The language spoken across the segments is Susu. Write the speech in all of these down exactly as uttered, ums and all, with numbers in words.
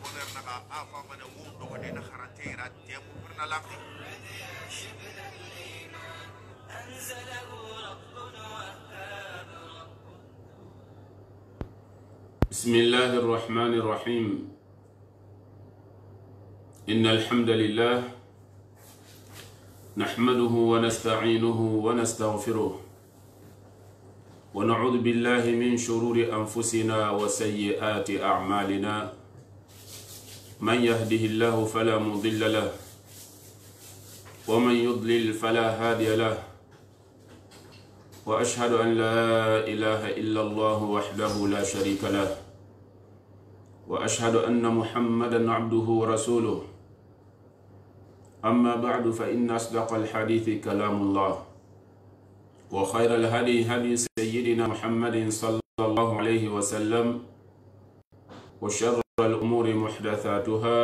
boner naga afa mana wo dogo de na kharatera temu perna laqi بسم الله الرحمن الرحيم إن الحمد لله نحمده ونستعينه ونستغفره ونعوذ بالله من شرور أنفسنا وسيئات أعمالنا من يهده الله فلا مضل له ومن يضلل فلا هادي له وأشهد أن لا إله إلا الله وحده لا شريك له وأشهد أن محمدا عبده ورسوله أما بعد فإن أصدق الحديث كلام الله وخير الهدي هدي سيدنا محمد صلى الله عليه وسلم وشر الأمور محدثاتها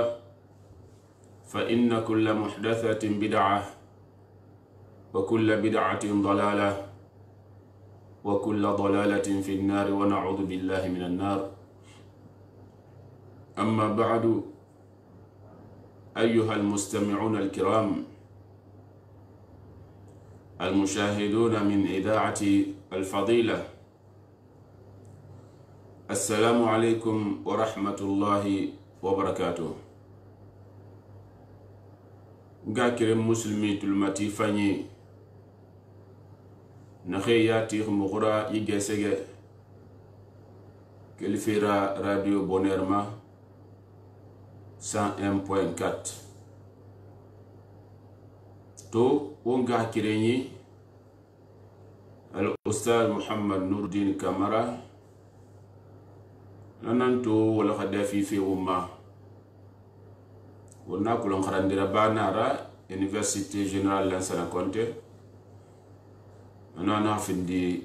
فإن كل محدثة بدعة وكل بدعة ضلالة وكل ضلالة في النار ونعوذ بالله من النار. أما بعد أيها المستمعون الكرام المشاهدون من إذاعة الفضيلة، السلام عليكم ورحمة الله وبركاته. غاكر مسلمي تلمتي فاني نخياتي مغرا يجسج كالفيرا راديو بونيرما cent un point quatre to wonga kirenyi al ustaz Muhammad Nurdin Kamara nananto wala khadafi fi umma wonna kulon kharandira banara Université Générale Lansana Conté nana findi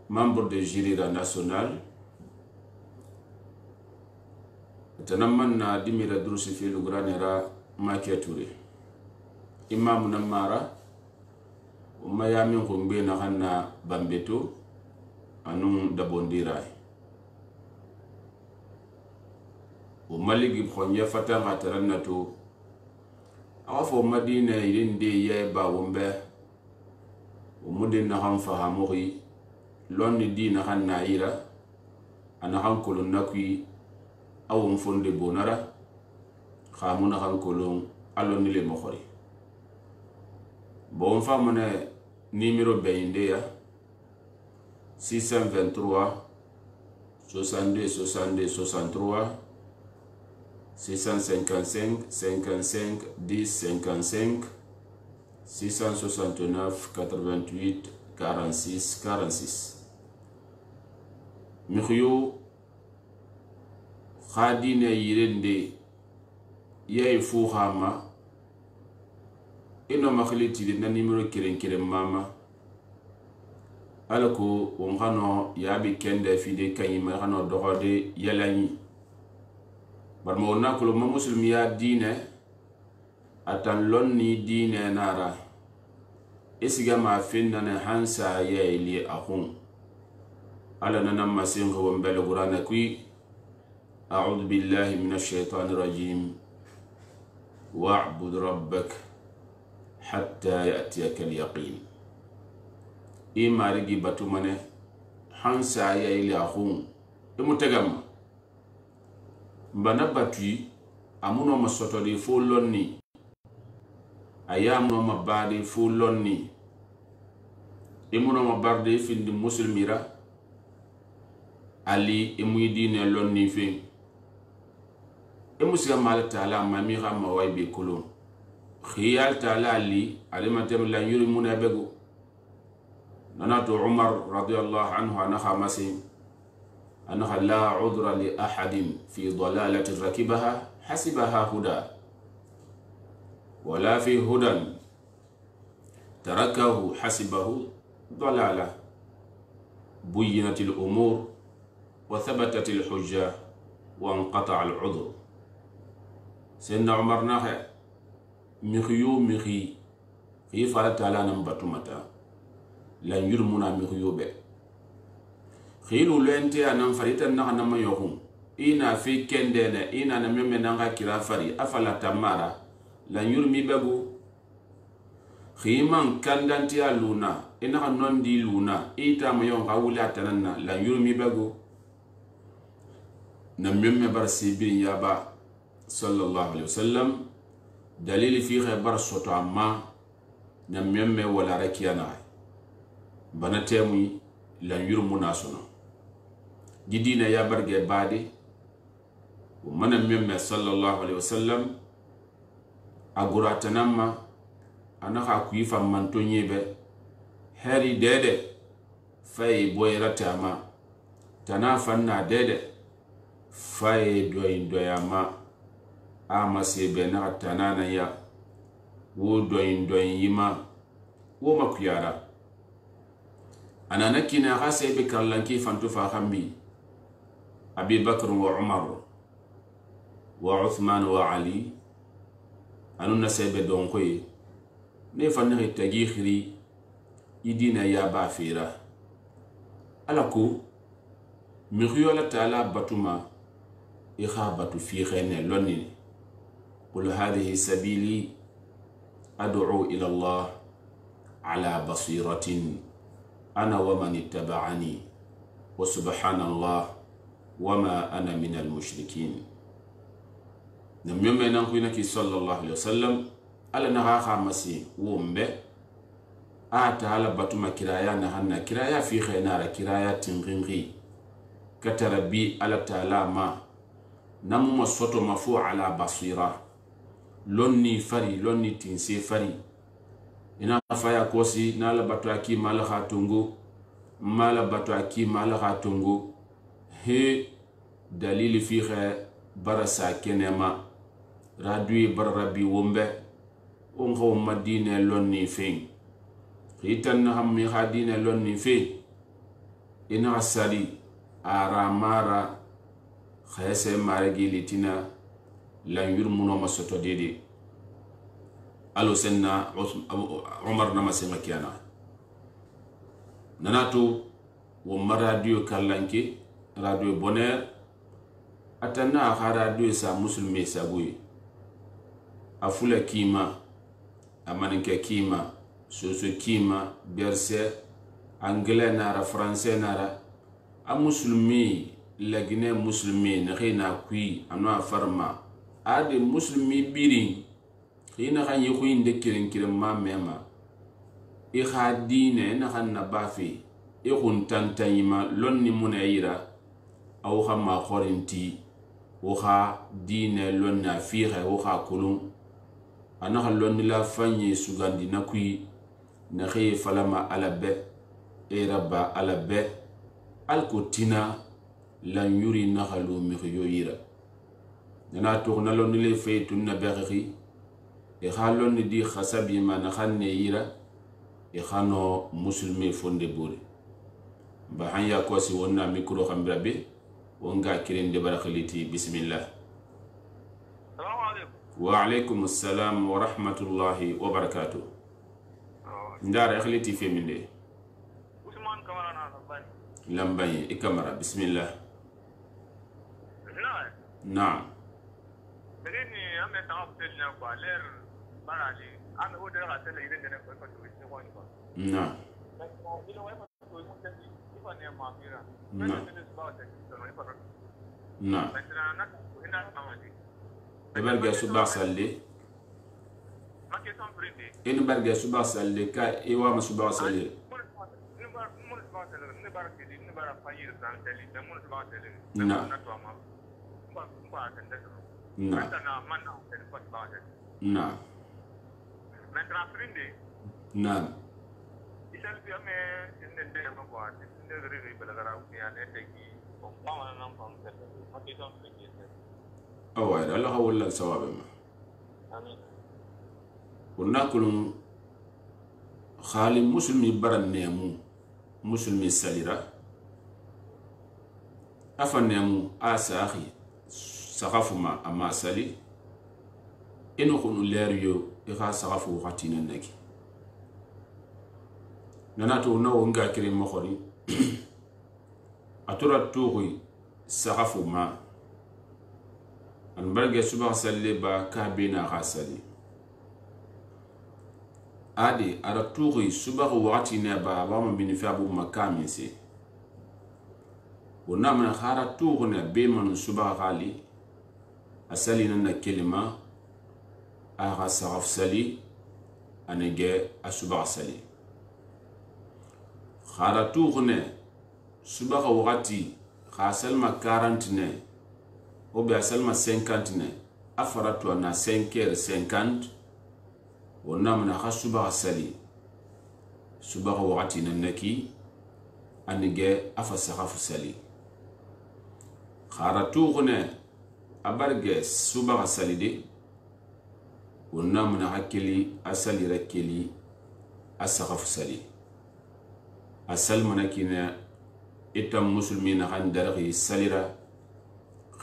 membre de jury national tanaman na dimira durusi fi lugranera makiature imam namara umma yamin khumbe na hanna bambeto anun dabondira umma ligi khonye fata ngatarannato awafo madina irinde ye ba wombe umudin na han fahamuri lonni dina hanna ira ana hankulun nakwi aw mfonde bonara khamuna hankolon aloni le mokhori bon famone numéro beinde ya six cent vingt-trois soixante-deux soixante-deux soixante-trois six cent cinquante-cinq cinquante-cinq dix cinquante-cinq six cent soixante-neuf quatre-vingt-huit quarante-six quarante-six Mikhyo khadine yirende yay fu khama ino makhliti de na numero kiren kiren mama alako on hano yabi kende fide kanyima hano dohode yalani barmo nakulo ma muslimi ya dine atan lonni dine nara isiga ma finna na hansa yayli akhun ala nana masin ko mbele qur'ana kui أعوذ بالله من الشيطان الرجيم واعبد ربك حتى يأتيك اليقين إما رجي باتمنه حنسا يلي أخون إمتجم بنبتي أمونو مسوتوري فولوني أيامو مبادي فولوني إمونو مبادي في المسلميرا علي إمويدين لوني فين emusiga mal taala mami gamma way be kulun khiyal taala li alimatem la yuri munabegu nanato Umar radiyallahu anhu ana khamasi ana la udra li ahadin fi dalalati rakibaha hasibaha huda wala fi hudan tarakahu hasibahu dalala buyinat al umur wa thabatat al hujja wa inqata al udhr سيدنا عمر ناخي مخيو مخي في فعل تعالى نمبتو متى لن يرمونا مخيو بي خيلو لنتي أنا فريتا نخنا ما يخون ina fi kendene ina na memme nanga kira fari afala tamara la yurmi begu khiman kandanti aluna ina non di luna ita mayon gawula tananna la yurmi begu na memme bar sibin yaba sallallahu alaihi wasallam dalili fi khabar soto amma na memme wala rakiyana bana temu lan yurmu nasono didina ya barge bade o mana memme sallallahu alaihi wasallam agurata namma anaka kuifa mantonyebe heri dede fay boyratama tanafanna dede fay doy doyama ama sebe na tanana ya wo doy doy yima wo makuyara anana kina khase be kallanki fantu fa khambi abi bakr wa umar wa uthman wa ali anuna sebe don koy ne fanne tagi khiri idina ya ba fira alako mi khiyola taala batuma ikhabatu fi khayne lonni qul hadhihi sabili ad'u ila allah ala basiratin أنا ومن اتبعني وسبحان الله وما أنا من المشركين نميوم نانكوينك صلى الله عليه وسلم ألا نغاخا مسي ومبه آتا على باتما كرايا نهانا كرايا في خينارا كرايا تنغنغي كتربي على تعالى ما نمو مصوتو مفو على بصيرة لوني فري لوني تنسي فري ina faya kosi nala batu aki mala khatungu mala batu aki mala khatungu he dalili fi kha barasa kenema radui barabi wombe on khaw madine lonni fe khitan hammi khadine lonni fe ina asali aramara khayse maragi litina lan yurmuno masoto dede alo senna umar nama sema kiana nanatu wo radio kallanke radio bonheur atanna ha radio sa muslimi sabuyi afula kima amaninke kima soso kima berse anglais nara français nara a muslimi lagine muslimi na khina kui anwa farma ade muslimi birin ina kan yi kuyin da kirin kirin ma mema i khadine na kan na bafi i kun tantayima lonni muna yira aw kha ma khorinti o kha dine lonna fiha o kha kulun ana kha lonni la fanyi sugandi na kui na khiy falama ala be e rabba ala be al kutina lan yuri na khalu mi khiyo yira na to na lonni le feytun na beghi e khalon ni di khasabi man khanne yira e khano muslimi fonde buri ba hanya ko si wonna mikro khambira be wonga kirinde barakhliti bismillah. Assalamu alaikum. Wa alaikum assalam wa rahmatullahi wa barakatuh. Ndara khliti fi minde Usman Kamara na lambani lambani ikamara bismillah. Na'am. Na'am. Begini ame tawafil na kwa ler barali ame odere ka tele ile ndene kwa kwa tuwisi kwa nipa. Na'am. Ile wa kwa tuwisi mtesi ifa ni maafira. Na'am. Na'am. Na'am. Na ina amadi. Ebarga suba salli Make son prindi. in barga suba salli ka iwa ma suba salli Na'am. Na'am. Na'am. Mentra prindi. Na'am. Isal bi ame inde ndene ko kwa inde riri belagara ukiya ne teki ko pawana nam pam tete. Make son prindi. Awa Allah hawalla sawabe ma Amin. kunna kulun khali muslimi baran nemu muslimi salira afa nemu asahi sakafuma ama sali ino kunu leriyo ikha sakafu wakati nanaki nanato na wonga kire mokhori atura tuqi sakafuma an barge suba salle ba ka bina ha sali adi ara tuuri suba waqti ne ba ba ma bin fi abu makami se wonna man khara tuuri ne be man suba gali asali nan na kelima aga saraf sali anege asuba sali khara tuuri ne suba waqti kha salma quarante ne o be salma cinquante ne afaratu na cinq heures cinquante wonna mana kha suba sali suba waqti nan naki anige afa saraf sali khara tuuri ne abarge suba sali de wonna mana hakili asali rakeli asaraf sali asal manakina itam muslimina han darghi salira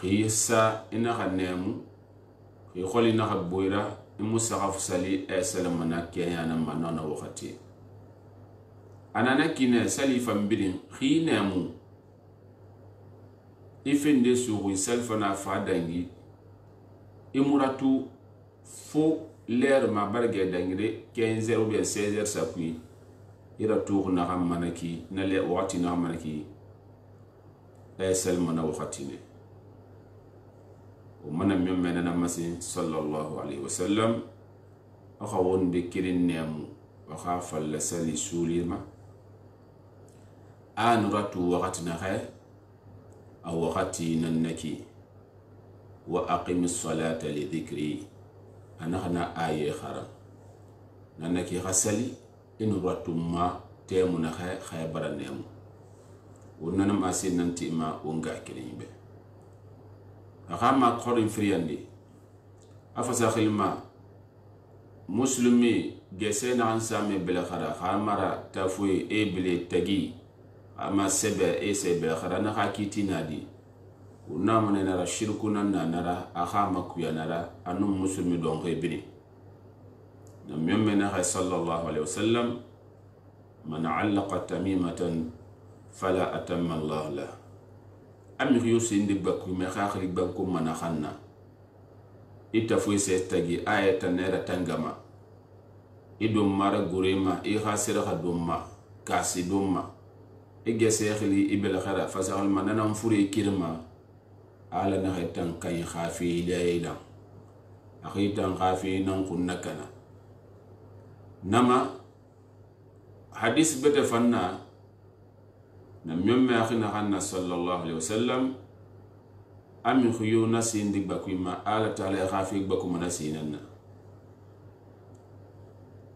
khisa ina khanemu khi kholi na khaboira imu saraf sali asal manake yana manana wakati anana kina sali fambirin khinemu ifende suru salfana fadangi imuratu fo l'air ma barge dangire quinze heures ou bien seize heures sapui ira tour na manaki na le wati na manaki asal mana wakati ne o mana mi mena na masin sallallahu alaihi wasallam akha wonde kirin nemu akha falla sali sulima an ratu wakati na khay aw wakati nanaki wa aqimis salata li dhikri ana khana aye khara nanaki khasali in ratuma temu na khay khay baranemu wonna ma sin nanti ma wonga kirimbe akama khorin friyandi afasa khilma muslimi gesena ansame bela khara khamara tafui e bele tagi ama sebe e sebe khara na hakiti nadi wonna mane na shirku nan na nara akama kuya nara anu muslimi don rebini nam yemme na sallallahu alaihi wasallam man allaqa tamimatan fala atamma Allah la amir yusindi bakku me khakhri banku mana khanna itafu se tagi ayata nera tangama idum mara gurema i khasira khadumma kasi dumma igese khili ibel khara fasal manana furi kirma ala na khaitan kay khafi layla akhitan khafi nan kunnakana nama hadis bete fanna na memme akhina khanna sallallahu alaihi wasallam ami khuyu nasin dik bakuma ala taala khafi bakuma nasinanna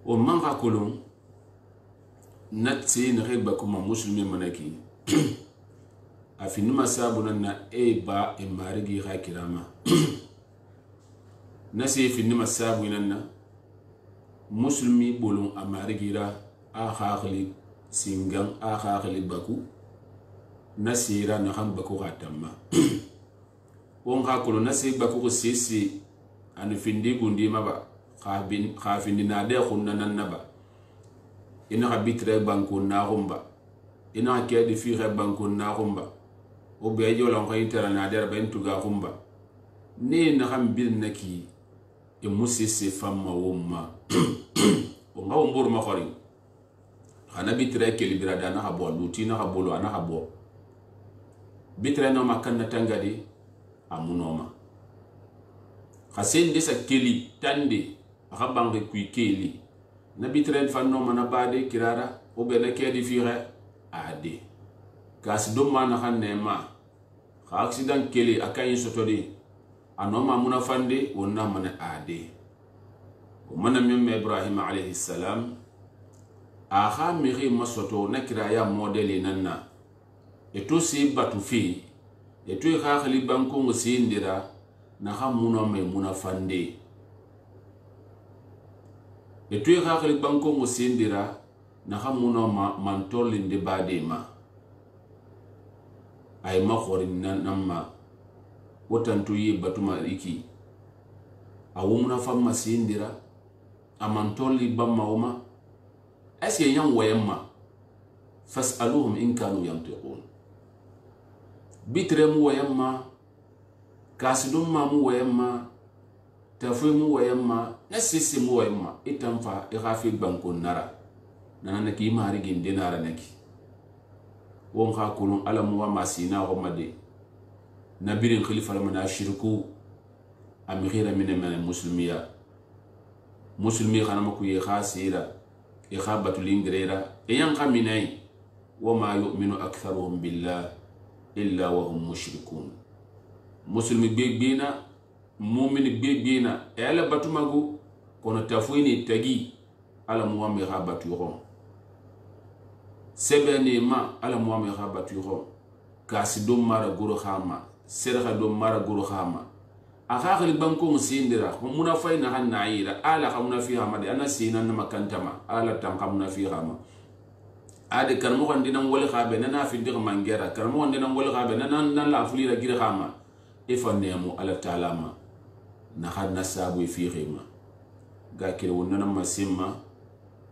o man qakulun natsi ne bakuma muslimi manaki afinu masabuna na e ba e marigi khakirama nasi finu masabu nanna muslimi bolon amarigira a khakhli singan a khakhli baku nasira na ham baku khatamma won khakulu nasi baku ko sisi an findi gundi maba khabin khafindi na de khunna nan naba ina habitre banku na rumba ina kedi fi re banku na rumba o be yo lon khaytara na der ben tuga rumba ni na ham bil naki e musisi famma wumma o ngaw mbur ma khori khana bitre ke libira dana ha bo luti na ha bolo ana ha bo bitre no makanna tangadi amunoma khasen de sa keli tande ha bangi ku keli na bitre fanno mana bade kirara o be na ke di fire ade kas do mana hanne ma kha accident keli akayin sotodi anoma muna fande wonna mana ade o mana memme Ibrahim alayhi salam aha miri masoto nakira ya modeli nanna eto si batu fi eto kha khali banko ngusindira na ha muna me muna fande eto kha khali banko ngusindira na ha muna ma mantoli de badema ay ma khorin nan namma wotantu yi batuma iki awumuna famma sindira amantoli bamma uma asi yan wayamma fas'aluhum in kanu yantiqun bitrem wayamma kasidum ma mu wayemma tafoy mu wayemma na sisi mu wayemma itanfa i khafi banko nara nana ki mari gin dinara naki won kha kulun alamu wa masina ko made nabirin khalifa lamana shirku am ghira min man muslimiya muslimi khana mako ye khasira e khabatu lingrera e yan khaminai wa ma yu'minu aktharuhum billah illa wa hum mushrikun muslimi begbina mu'min begbina e ala batumago kono tafuini tagi ala muhammad khabatu yo sebene ma ala muhammad khabatu yo kasi do mara goro khama serha do mara goro khama akhakhli banko musindira muna fayna hanna ayira ala khamuna fi hamadi ana sina na makantama ala tanqamuna fi hama ade karmo gondina wol khabe nana fi dir mangera karmo gondina wol khabe nana nan la fulira gir khama ifanemu ala talama na hadna sabu fi khima ga kire wonna masimma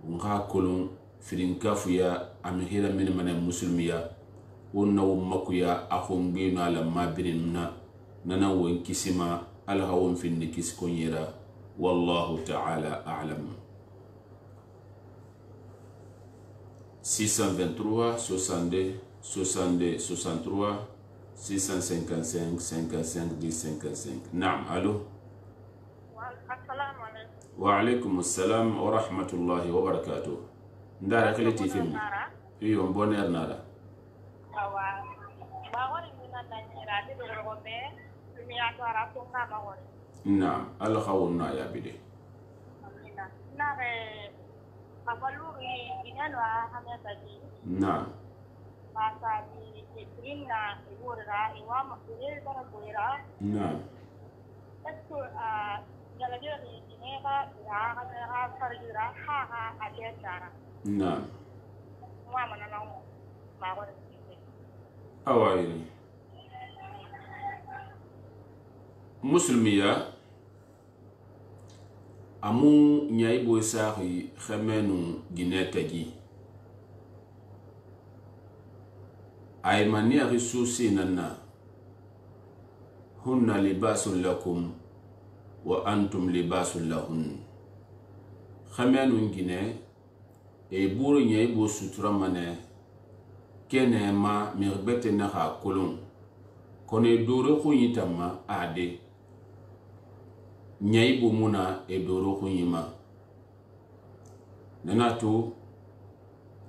nga kolon firin kafuya amhira min man muslimiya wonna wummakuya akhumbi na la mabirinna nana won kisima alhawon fin nikis konyera wallahu ta'ala a'lam. six cent vingt-trois soixante-deux soixante-deux soixante-trois six cent cinquante-cinq cinquante-cinq dix cinquante-cinq. Naam, allo. Assalamu alaikum. Wa alaikum assalam wa rahmatullahi wa barakatuh. Ndara kile tifim. Iyo bonheur nara. Awa. Ba woni mina nanira de robe. Miya to ara to ka ba woni. Naam, Allah khawna ya bide. Amina. Nare abaluri inanwa hameta ji. Naam. Masa di ibrina iwura iwa makure bara koira. Naam. Esto a galajira ni inega ya ha farjira ha ha adetara. Naam. Mwa manana ma woni. Awairi. Muslimiya amu nyaibo sahi khamenu ginetagi ay mania risusi nanna hunna libasun lakum wa antum libasun lahun khamenu gine e buru nyaibo sutura mane kene ma mirbete na ha kolon kone dore khuyitama ade nyaibo muna e doro khuyima nanatu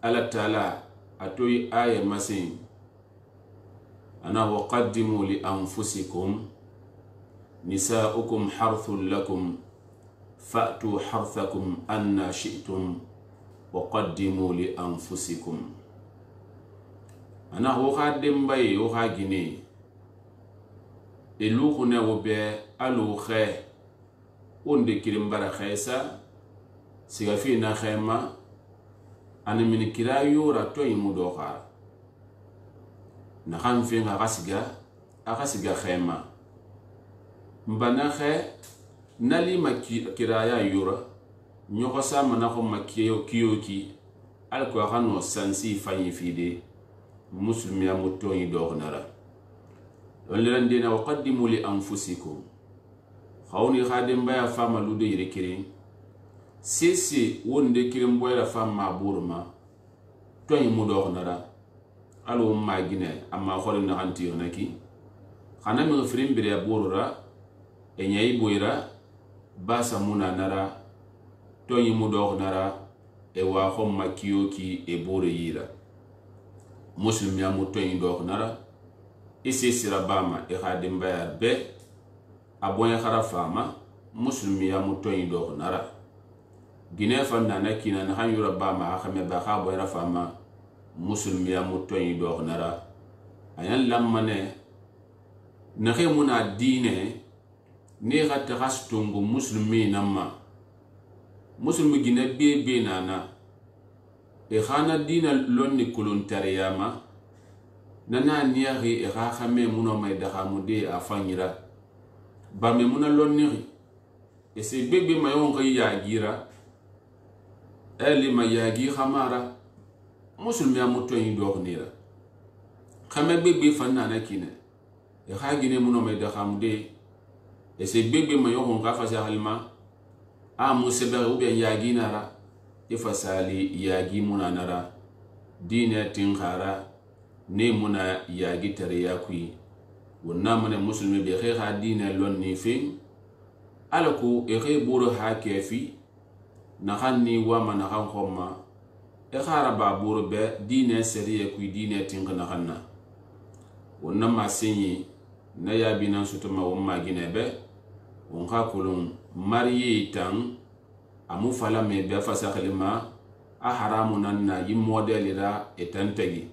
ala taala atoy aya masin ana waqaddimu li anfusikum nisaukum harthun lakum fa'tu harthakum anna shi'tum waqaddimu li anfusikum ana ho khadim bay ho khagine elu khuna wo be alu khe onde kirim bara khaysa siga fi na khayma ana min kira yura to yimu do kha na kham fi nga gasiga aga siga khayma mbana khe nali makira ya yura nyoko sama na ko makiyo kiyoki alko khano sansi fanyi fide muslimi ya muto yi do nara wala ndina waqaddimu li anfusikum khawni khadim baya fama lude yirekiri sisi wonde kirim boyla fama burma to yi mudo nara alo magine amma kholi na hanti yonaki khana mi frim bire burura e nyai boyra basa muna nara to yi mudo nara e wa khom makiyoki e bore yira muslim ya muto yi do nara isi sirabama e khadim baya be abonya kharafama muslim ya muto yi do nara gine fanna na kina na hanyura bama akhame ba khabo rafama muslim ya muto yi do nara ayan lamane na khemuna dine ne ghatta khastungu muslimi namma muslim gine be be nana e khana dina lonni kulun tariyama nana niyahi e kha khame muno may daha mude afanyira ba me muna lonni e se bebe mayon ga ya gira eli ma yagi khamara muslim ya muto yi do nira khame bebe fanna na kine e hagine muno me da khamude e se gbegbe ma yo hon gafa sa halma a musebe u be yagi nara e fasali yagi muna nara dine tin khara ne muna yagi tare ya kui wonna mane muslimi be kha dine lonni fi alaku e khay buru ha kefi na khanni wa man khan khomma e khara ba buru be dine seriye kui dine tin kana khanna wonna ma sinyi na ya binan sutuma wumma gine be won kha kulun mariyi tan amu fala me be fasa khalima a haramu nan na yi model ra etantagi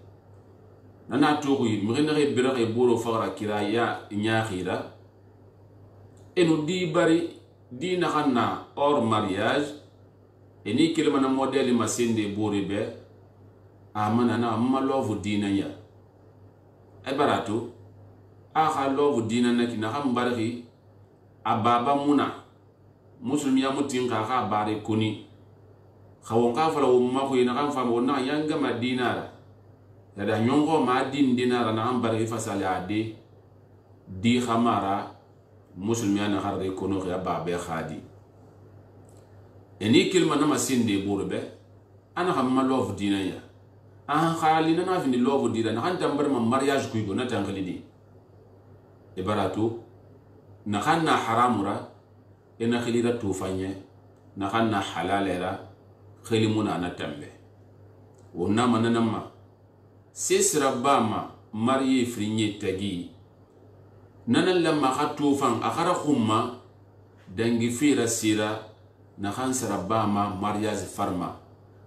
nana to yi migene re bira re boro fara kira ya nya khira enu di bari di na khanna or mariage eni kelma na model masinde bore be amana na amma love dina ya e barato a kha love dina na kina kham barhi ababa muna musulmi ya mutin ka ka bare kuni khawon ka fala wo ma ko ina kan fa mo na yanga madinara ya da nyongo ma din dinara na am bare fasali ade di khamara musulmi ya na harre kono ya babe khadi eni kilma na masinde burbe ana hamma love dina ya an khali na na fini love dina na kan tambar ma mariage kuigo na tangalidi e barato na khanna haramura ina khilira tufanye na khanna halalera khilimuna na tambe wonna mananama sisra bama mariye frinye tagi nanan lamma khatufan akhara khumma dangi fira sira na khan sarabama mariage farma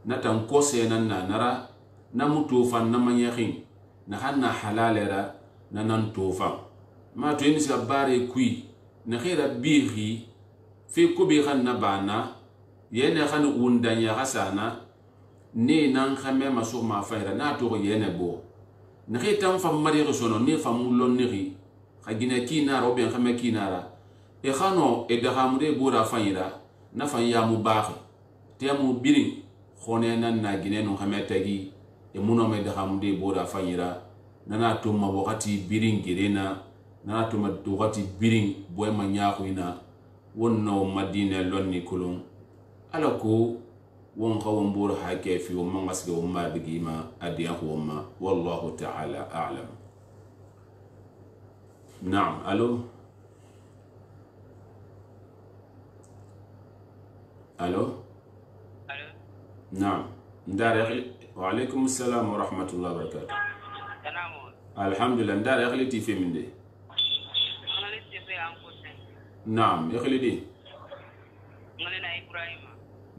na tan kose nan na nara na mutufan na manyakhin na khanna halalera nanan tufan ma to yin sabare kui na khira bihi fi kubi khanna bana yene khan undanya hasana ne nan khame masu ma faira na to yene bo na khitam fam mari sono ne famulon niri khagina kina robe khame kinara e khano e dahamre bura faira na fanya mu baxe temu birin khone nan na gine no khame tagi e muno me dahamde bura faira nana to ma wakati birin girena na to ma to wakati birin boy ma nyaxuina wonno madina lonni kulun alako won khawon bur hake fi won mangasge won ma bigima adiya won wallahu ta'ala a'lam. Naam, alo alo alo naam ndare wa alaykum assalam wa rahmatullahi wa barakatuh. Salamu Alhamdulillah, ndare akhli ti feminde. Naam, yakhli di. Ngalina Ibrahim.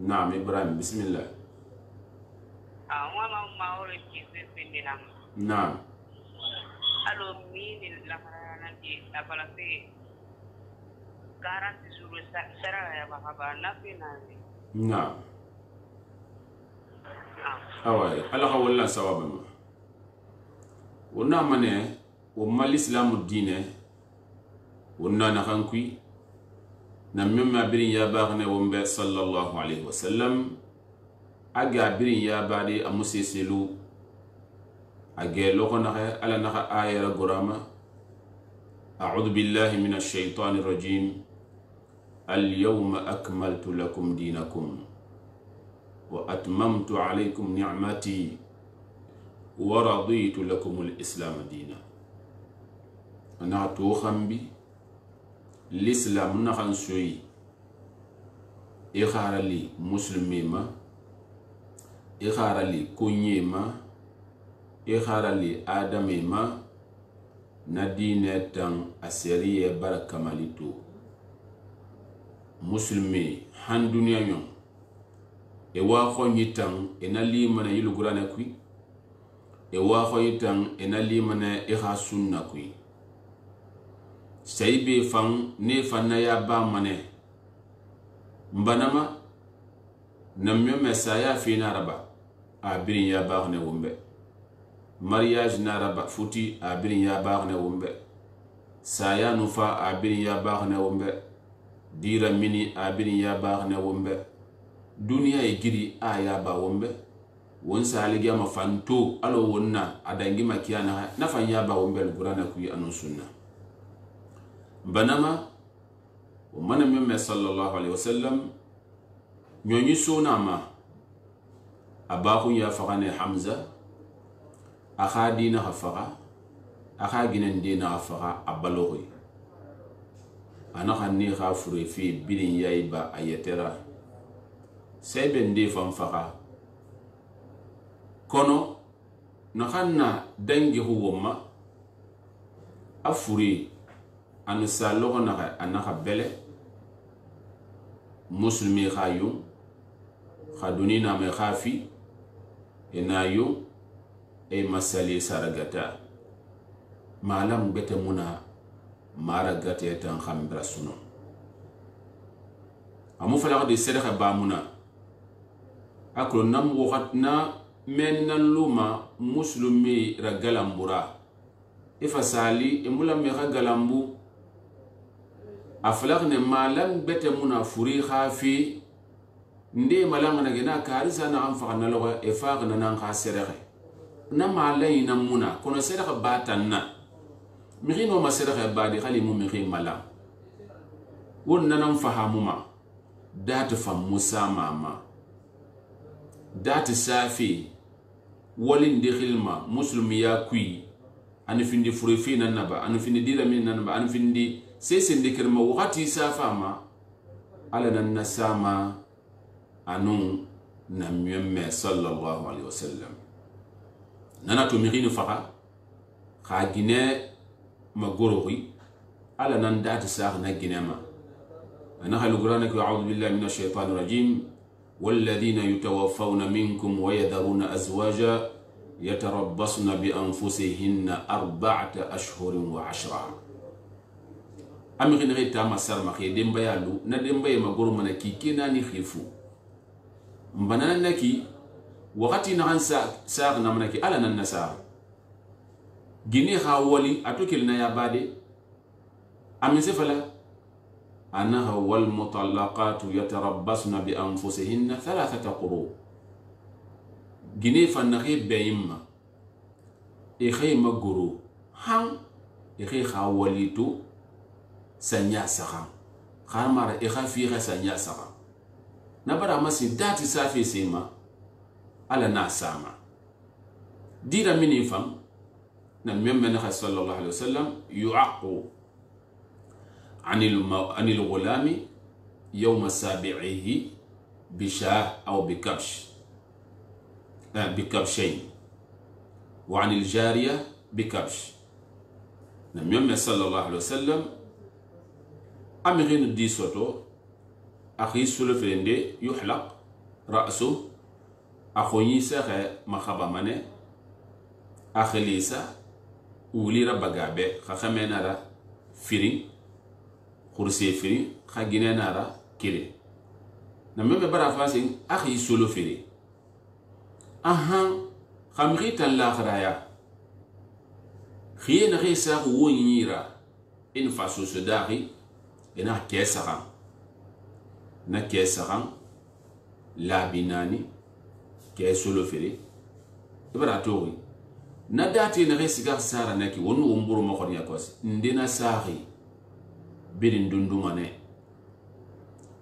Naam, Ibrahim, bismillah. Ah, mama maore ki feminde. Naam. Alo mini la farana di la palase. Garanti suru sara ya bahaba nafina. Naam. Awai, ala khawalla sawabama. Wonna mane o mal islamu dine wonna na khankui na memma birin ya bagne wombe sallallahu alaihi wasallam aga birin ya bade amuseselu age loko na ala na ayara gorama a'udhu billahi minash shaitanir rajim al-yawma akmaltu lakum dinakum wa atmamtu alaykum ni'mati wa raditu lakum al-islam dina. Ana to khambi l'islam na khan soyi e kharali muslimima e kharali kunyema e kharali adamima na dine tan aseriye barakamalito muslimi han duniya nyon e wa khonyi tan e na limana yulugurana kui e wa khonyi tan e na limana e kha sunna kui saibe fan ne fanna ya ba mane mbanama namyo mesaya fi naraba abirin ya ba ne wumbe mariage naraba futi abirin ya ba ne wumbe saya nufa abirin ya ba ne wumbe dira mini abirin ya ba ne wumbe duniya e giri a ya ba wumbe won salige ma fanto alo wonna adangi makiyana na fan ya ba wumbe gurana kuyi anu sunna banama o mana memme sallallahu alaihi wasallam nyonyi sona ma abahu ya fagane Hamza akha dina hafaga akha ginen dina hafaga abalohi ana khanni kha fure fi bilin yaiba ayetera seben de fam faga kono na khanna dangi huwoma afuri anu salogo na anaka bele muslimi khayu khaduni na me khafi enayu e masali saragata malam bete muna mara gate tan khambra suno amu fala de sedaka ba muna akro nam wakatna men nan luma muslimi ragalambura ifa sali emula me galambu aflaq ne malam bete muna furi khafi nde malam na gena karisa na am fa na lo e fa na nan kha serere na malay na muna kono serere batanna mi no ma serere badi khali mu mi malam won nan fahamuma dat fam musa mama dat safi walin de khilma muslimi ya kui an findi furi fi nan naba an findi dira min nan ba an findi sese ndikirma wakati safama ala nan nasama anu na myemme sallallahu alaihi wasallam nana to mirini faka kha gine magorohi ala nan dati sa na ginema ana halu qur'ana ku a'udhu billahi minash shaitanir rajim walladhina yatawaffawna minkum wa yadharuna azwaja yatarabbasna bi anfusihinna arba'ata ashhurin wa ashra amigin reta masar ma ke demba yalu na demba e magoro mana ki kenani khifu mbanana naki wakati na hansa sa na mana ki ala nan nasa gini hawali atukil na yabade amise fala annaha wal mutallaqatu yatarabbasna bi anfusihinna thalathata quru gini fannahi bayimma e khay magoro han e khay hawali tu sanya saka khamara e khafi kha sanya saka nabara masi dati safi sema ala na sama dira mini fam na memme na sallallahu alaihi wasallam yu'aqu anil anil gulami yawm sabi'ihi bishah aw bikabsh bikabshayn wa anil jariya bikabsh na memme sallallahu alaihi wasallam amirin di soto akhi sulfende yuhlaq ra'su akhoni saxe makhaba mane akhlisa uli rabagabe khakhamena ra firin khursi firin khaginena ra kire na meme bara fasin akhi sulfiri aha khamrita al-akhraya khiyena khisa wonyira in fasu sudari ina kesaran na kesaran labinani kesolo fere ibara tori na dati na resiga sara naki wonu umburu makon yakos ndina sahi birin dundumane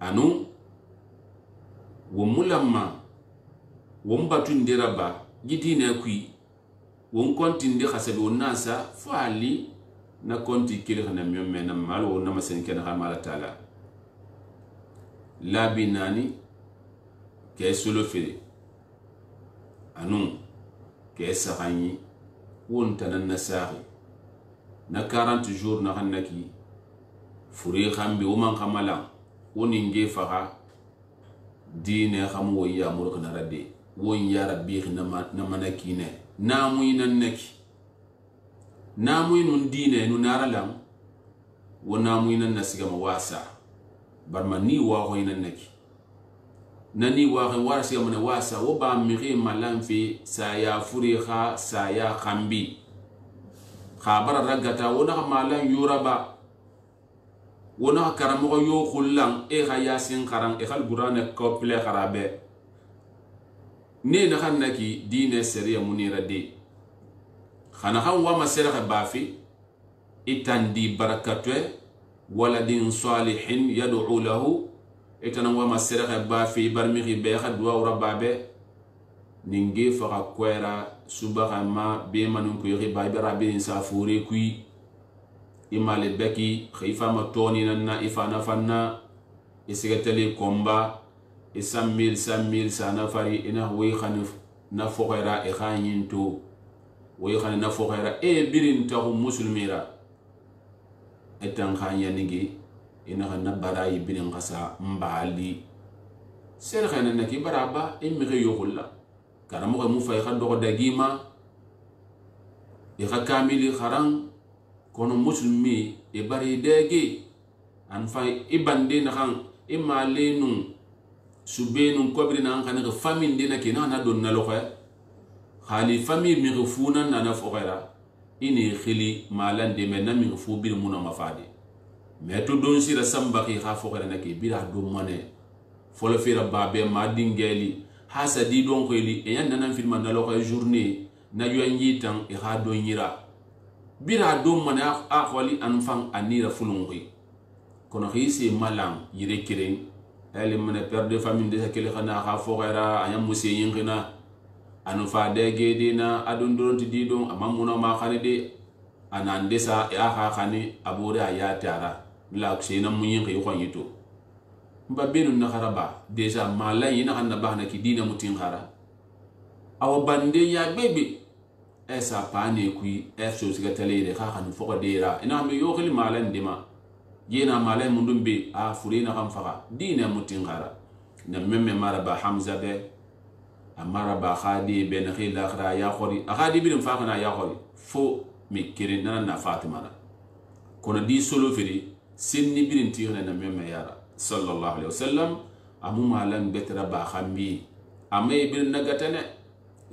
anu womulamma wombatu ndiraba gidina kui won konti ndi khasabi wonnasa fali na konti kili na myome na malo na masenke na mala taala labinani kesolo fere anu kesa ganyi wonta na nasari na quarante jours na hanaki furi khambi o man khamala woni nge faha dine khamu ya muruk na radde won ya rabbi na manakine na muina neki na muinun dine nu naralam wona muina nasiga mawasa barma ni wa ko ina neki nani wa ko warasi amane wasa wo ba miri malamfi saya furi kha saya khambi khabara ragata wona malan yuraba wona karamo yo khullan e kha yasin kharan e khal qur'ana komple kharabe ne na khannaki dine seriya munira de khana khan wa masera bafi itandi barakatwe waladin salihin yad'u lahu etana wa masiraha ba fi barmighi be khadwa rabbabe ninge faka kwera subaha ma be manun ko yiri ba bira be safure kui imale beki khifa ma toni nanna ifana fanna isigatali komba isamil samil sana fari ina wi khanif na fokhira e khanyinto wi khan na fokhira e birin tahu muslimira etan khanya nigi ina na barayi birin qasa mbali ser khana naki baraba immi yohulla karamo ko mu fay khado dagima e khamili kharan kono muslimi e bari dege an fay ibande na khan imalenu subenu kobri na kan ga famille dina kina na don na lokho khali famille mi refuna na na fokhira ini khili malan de men na mi refu bir muna mafadi mais to don sira sambaki kha fokhira na ke bira do mone folo fira babe ma dingeli hasadi don ko li e yan nan film na lokho journée na yoangi tan e ha do nyira bira do mone a kholi an fan anira fulungi kono khisi malam yire kiren elle mena père de famille de kele khana kha fokhira ayam musse yingina anu fa de gedina adon don ti don amamuna ma khalide anande sa ya kha khani abure ayatara la ksina munyin ko khonyito mba benu na kharaba deja malay ina hanna bahna ki dina mutin khara aw bande ya bebe esa pane kui efso siga tele kha khanu fokodera ina mi yo khili malan dima yena malay mundum be a furina kam faka dina mutin khara na memme maraba hamza be amaraba khadi ben khila khra ya khori khadi bin fakana ya khori fo mi kirin na na fatima na kono di solo firi sinni birin tiyana na memme yara sallallahu alaihi wasallam amu malan betra ba khambi amay bin nagatane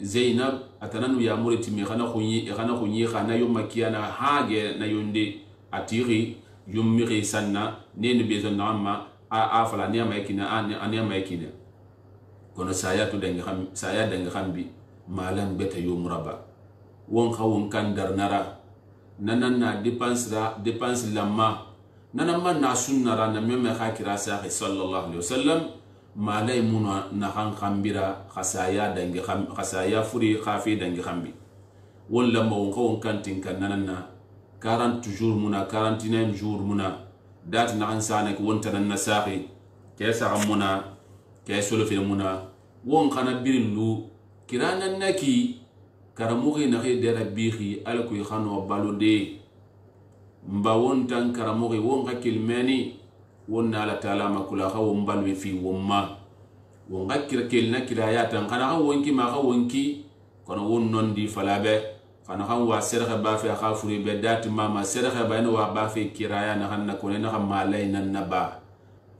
zainab atananu ya muriti mi khana khunyi khana khunyi khana yum makiyana hage na yunde atiri yummi sanna neni bezon namma a afala ne maykina an an maykina kono sayatu dangi kham saya dangi khambi malan beta yumraba won khawun kan darnara nanan na dépense ra dépense lamma nanan man na sunnara na meme khakira sa sallallahu alaihi wasallam malay muna na khan khambira khasaya dangi kham khasaya furi khafi dangi khambi wala mo khawun kan tinkan nanan na quarante jours muna quarante-neuf jours muna dat na ansana ko wonta nan nasahi kesa muna keso fi muna won khana birillu kirana naki karamugi na khide rabbihi alku khano balode mba won tan karamugi won ka kilmeni won ala taala makula khaw mbalwi fi wumma won gakir kelna kirayatan khana khaw wonki ma khaw wonki kono won non di falabe khana khaw wa serha ba fi khafuri be dat mama serha ba no wa ba fi kiraya na khanna ko na khamma layna naba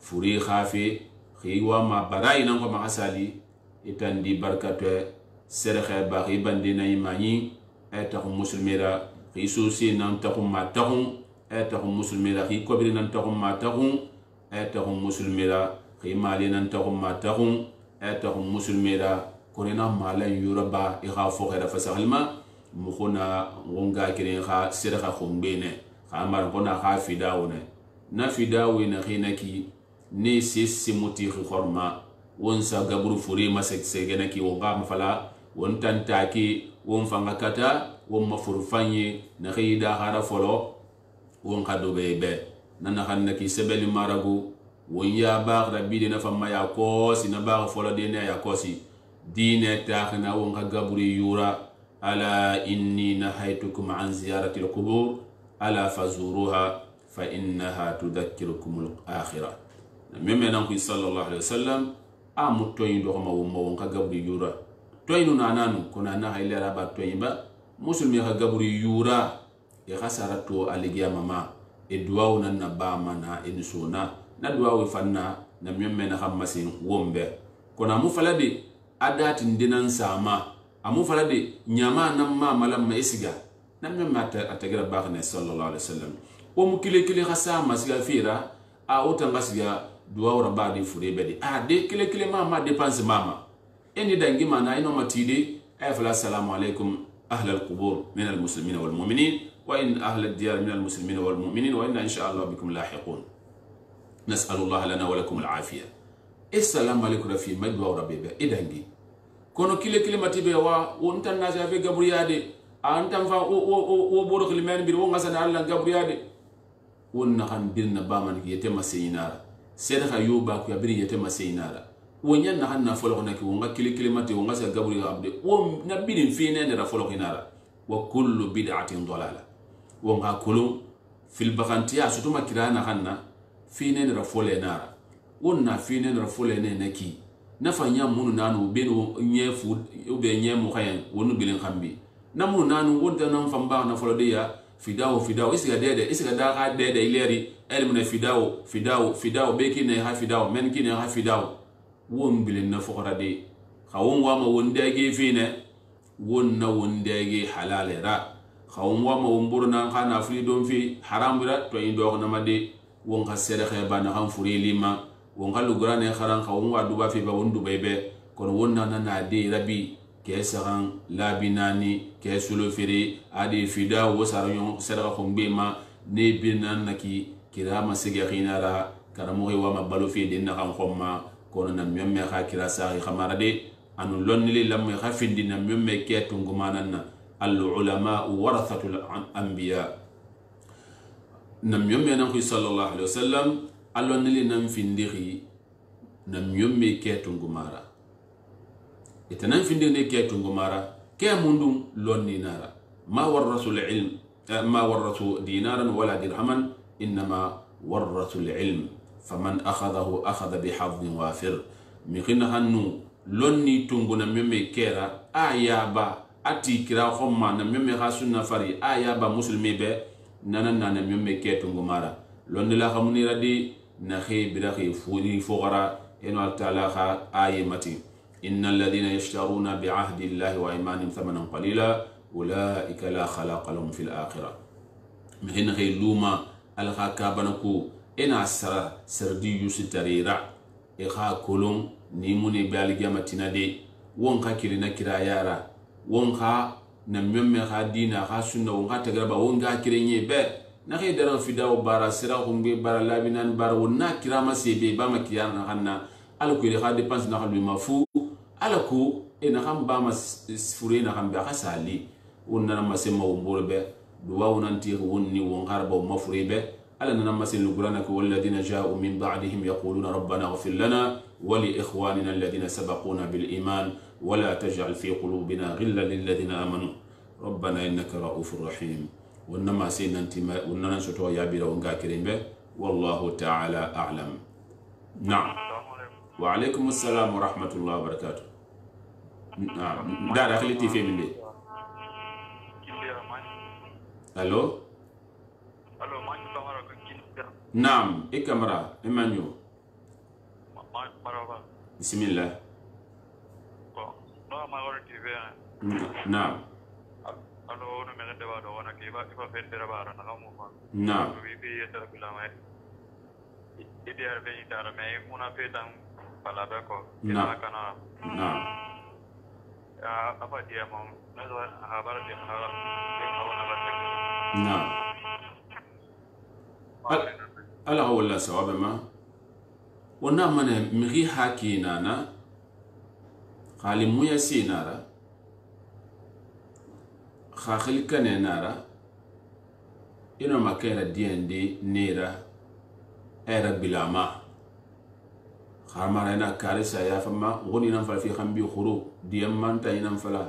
furi khafi khiwa ma barai nan ko ma asali itandi barkatu serha ba ibande na imani eta muslimira khisusi nan takum ma takum eta muslimira khi kobri nan takum ma takum eta muslimira khi mali nan takum ma takum eta muslimira korena mala yuraba i khafo khira fasalma mukhuna ngonga kirin kha serha khumbene khamar kona kha fidawne na fidawina khinaki ni sisi muti khorma won sa gabru furi masek segena ki wonga mafala won tantaki won fanga kata won mafurfanye na khida hara folo won khado bebe nana khannaki sebeli maragu won ya ba rabbi na famma ya kosi na ba folo de ne ya kosi dine takhna won gabri yura ala inni nahaytukum an ziyarati alqubur ala fazuruha fa innaha tudhakkirukum al-akhirah meme nan ku sallallahu alaihi wasallam amu toyin do ma wumma won ka gabri yura toyinu nananu kuna na haylera ba toyiba muslimi ka gabri yura e khasara to aligiya mama e duwaw nan na ba mana e suna na duwaw fanna na meme na khamasin wombe kuna mu falade adatin dinan sama amu falade nyama nan ma malam ma isiga nan meme atagira ba ne sallallahu alaihi wasallam o mu kile kile khasama siga fira a otanga siga duwa raba di fure bedi a de kile kile mama dépense mama eni dangi mana ino matide ay fala assalamu alaikum ahla alqubur min almuslimin wal mu'minin وإن أهل الديار من المسلمين والمؤمنين وإنا إن شاء الله بكم لاحقون نسأل الله لنا ولكم العافية السلام عليكم رفي مجد وربيبه إدنجي كونو كل كلمة تبوا وانت الناس في قبريادي أنت فا وبورك لمن بير وانغسنا الله قبريادي ونخن بيرنا بامان يتم سينارا سيدخا يوبا كو يبري يتم سينارا ونين نخن نفلقنا كي ونغا كل كلمة وانغسنا قبري عبد ونبين فينا نرفلق نارا وكل بدعة ضلالة ونغا كلهم في البغانتيا ستوما كرانا خنا فينا نرفلق نارا وننا فينا نرفلق نكي nafa nya munu nanu beno nye fu ube nye mukayen wonu bilin khambi namu nanu wonta nan famba na folode ya fidawo fidawo isiga dede isiga da ha dede ileri elmuna fidawo fidawo fidawo beki ne ha fidawo men ki ne ha fidawo won bilin na fokora de khawon wa ma wondege fine won na wondege halale ra khawon wa ma womburna khana fri don fi haram bira to indo na made won ka sere kheba na han furi lima won galu grane kharan khawun wa duba fi ba wondu bebe kon wonna na de rabi ke saran labinani ke sulo firi adi fida wo saranyo sera khombe ma ne binan naki kirama sege khinara karamo wa mabalu fi din na kan khomma kon nan memme kha kira sa khamara de anu lonni lam kha fi din na memme ke tungumanan al ulama warathatul anbiya nam memme nan sallallahu alaihi wasallam Allah nili nam findiri nam yomme ke tungumara ita nam findiri ke tungumara ke mundum lonni nara ma warrasu ilm ma warrasu dinaran wala dirhaman inma warrasu ilm faman akhadahu akhadha bihadhin wafir mi khina hannu lonni tungu nam yomme kera ayaba ati kira khomma nam yomme khasunna fari ayaba muslimi be nanan nam yomme ke tungumara lonni la khamuni radi نخي برخي فوري فغرا إنه تعالى آية متي إن الذين يشترون بعهد الله وإيمانهم ثمنا قليلا أولئك لا خلاق لهم في الآخرة مهن غي لوما الخا كابنكو إن عسرا سردي يستريرا إخا كلهم نيموني بالجامتنا دي وانخا كيرنا كرايارا وانخا نميم خا دينا خا سنة وانخا تقربا وانخا كيريني بي nakhi daran fidawo bara sira khumbe bara labinan bara wonna kirama sebe bama kiyana hanna alako ile khade pense na khalbi mafu alako ina khamba mas fure na khamba khasali wonna na masema wumburbe duwa wonanti wonni won harba mafurebe ala na masil lugurana ko walladina ja'u min ba'dihim yaquluna rabbana ighfir lana wa li ikhwanina alladhina sabaquna bil iman wa la taj'al fi qulubina ghillan lil ladina amanu rabbana innaka ra'ufur rahim ونما سيننتي وننا سوتو يابيرا ونغا كريمبه والله تعالى اعلم نعم وعليكم السلام ورحمه الله وبركاته نعم دا دخلتي في من دي الو الو ما كاميرا نعم اي كاميرا ايمانيو بسم الله نعم نعم نعم نعم نعم ألا هو الله سواب ما ونعم من مغي حكي نانا خالي مويا سينارا خاخل كان نارا إنه ما كان دين دي نيرا إيرا بلاما خامارنا كارثة يا فما غني ننفل في خمبي خروج ديمان تاي ننفلا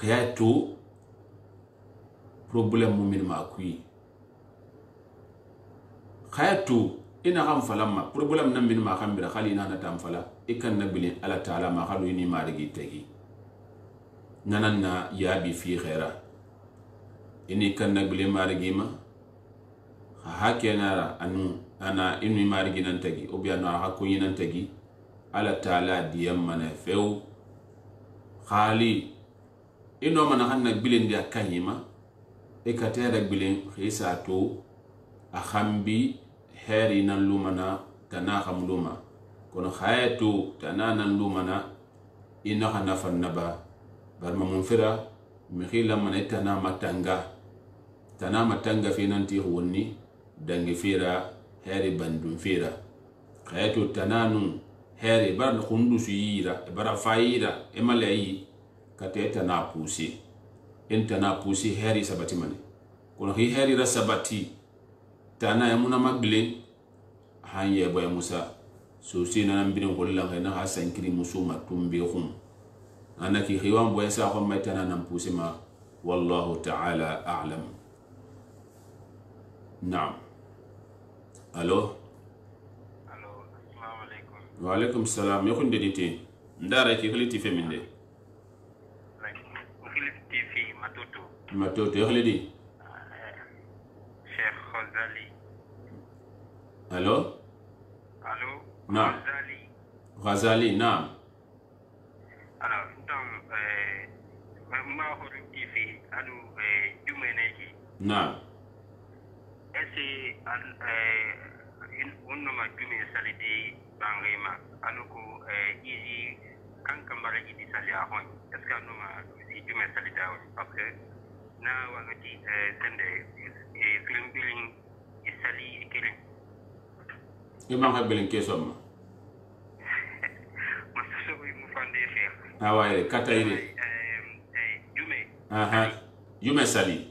خياتو problem mumin ma kui خياتو إنا خم فلما problem نم من ما خم بره خالي نانا تام فلا إكن نبلين على تعالى ما خلو إني ما رجي تجي نانا يابي في خيرا إني كن نبلين ما رجي ما هاكي نارا أنو أنا إني ما رجي ننتجي أبيا نارا هكوني ننتجي على تعالى ديام من فيو خالي إنه من خن نبلين دي كهيما إكتير نبلين خيساتو أخمبي هاري نلومنا تناخم لوما كون خايتو تنانا لومنا إنها نفن نبا برما منفرا مخيلا من إتنا متنغا tana matanga fe nanti wonni dangi fera heri bandun fera khayato tananu heri bar khundu suyira bara fayira emalayi kate tana pusi entana pusi heri sabati mane kono hi heri ra sabati tana yamuna magle hanye boy musa so sina nan birin kollan hayna hasan kiri musuma tumbe khum anaki khiwan boy sa ko may tana nan pusi ma wallahu ta'ala a'lam. Naam. Allo. Allo, assalamu alaikum. Wa alaikum salam. Yakun dedite. Ndara ki khiliti feminde. Like, khiliti T V matoto. Matoto yakhlidi. Sheikh Ghazali. Allo. Allo. Naam. Ghazali. Ghazali, naam. Alors, donc, euh, ma horu T V, anu euh, jumeneki. Naam. Est-ce que on ne m'a jume salidi bangrema, anu ko izi kan kamara idi sali ahon. Est-ce que on m'a si jume salida parce que na wagati sende film billing isali ikele. Imam habelin kesoma. Maso mu fande fer. Awaye kataire. Eh jume. Aha. Jume sali.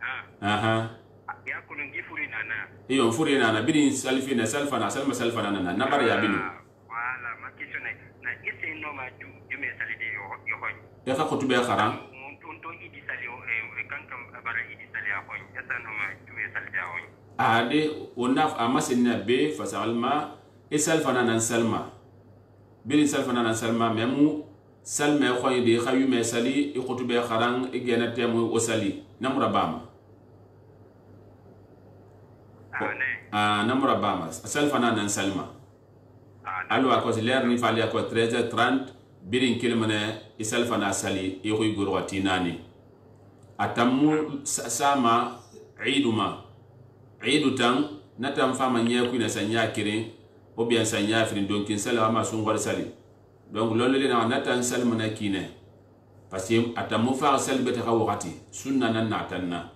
Ah. Aha. Ya kunun gifuri nana. Iyo mfuri nana bidin salfina salfana salma salfana nana nabar ya binu. Voilà, ma question est na ese no ma ju jume salide yo yo hoy. Ya ka khutube kharam. Mon tonto idi sali o e kankam bara idi sali a hoy. Esa no ma jume salide a hoy. Ade onaf amasinna be fasalma isalfana nan salma. Bidin salfana nan salma memu salma khoy de khayume sali i khutube kharam i gena temu o sali namra bama. Ah, namra bama salfana nan salma. Alwa ko ler ni fali ko treize heures trente birin kilmane isalfana sali i khoy gurwati nani. Atamu sama iduma idu tan natam fama nya ku na sanya kirin o bien sanya firin donkin sala ma sun gol sali. Donc lolu le na natan salma na kine. Parce que atamu fa salbe ta wakati sunna nan natanna.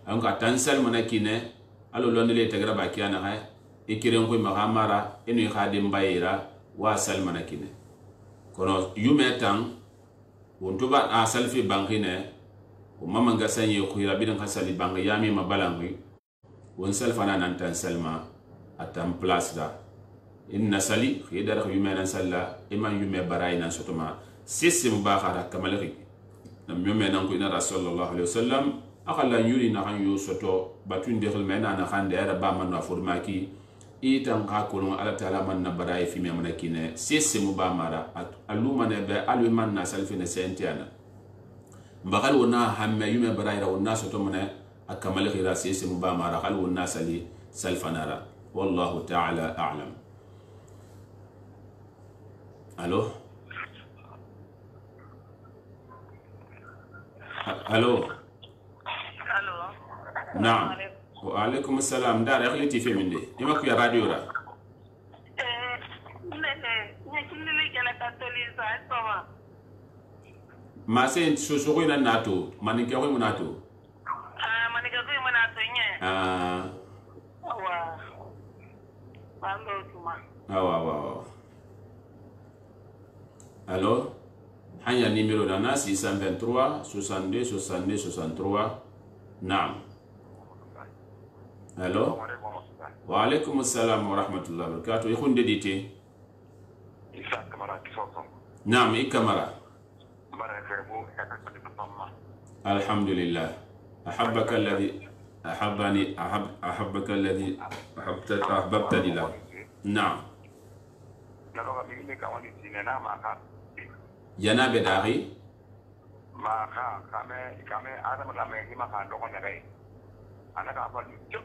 An ka tan salma na kine alo lolu le tagra ba kiyana ha ikiren ko mahamara enu khadim bayira wa salma na kine. Kono yume tan wonto ba a salfi bankine o mama nga sanye khira bidan khasali bang yami mabalangi won salfana nan tan salma atam place da inna sali khidar yume nan salla iman yume baray nan sotoma sisim bakhara kamalaki nam yume nan ko ina rasulullah sallallahu alaihi wasallam akalla yuri na han yu soto batun de khulmena na khande ara ba man na furmaki itan ka ko ala taala man na baray fi me manakine sisim ba mara aluma ne be alu man na salfina sentiana mbakal wona hamme yume barayra wona soto mone akamal khira sisi mubamara khal wona sali salfanara wallahu ta'ala a'lam. Allo. Allo. Allo. Naam. Wa alaikum assalam. Dar akhliti fi minde ima ku ya radio ra Eh, nene, ne kinile kala katoliza soma. ma sen so so ko ina nato maninke ko mo nato Ah, manika ko mo nato nye. ah Wa. Bando tuma. awa awa. Allo. Hanya numéro dana six cent vingt-trois soixante-deux soixante-deux soixante-trois. Naam. Allo. Wa alaikum assalam wa rahmatullahi wa barakatuh. Ikhun dedite. Isa kamara kisoso. Naam, ikamara. Bara ferbu eta ko de pamma. Alhamdulillah. أحبك الذي أحبني أحب أحبك الذي أحبت أحببتني له. نعم. Yana bedari. Maka kami kami ada kami ini makan dokon negai. Anak apa itu?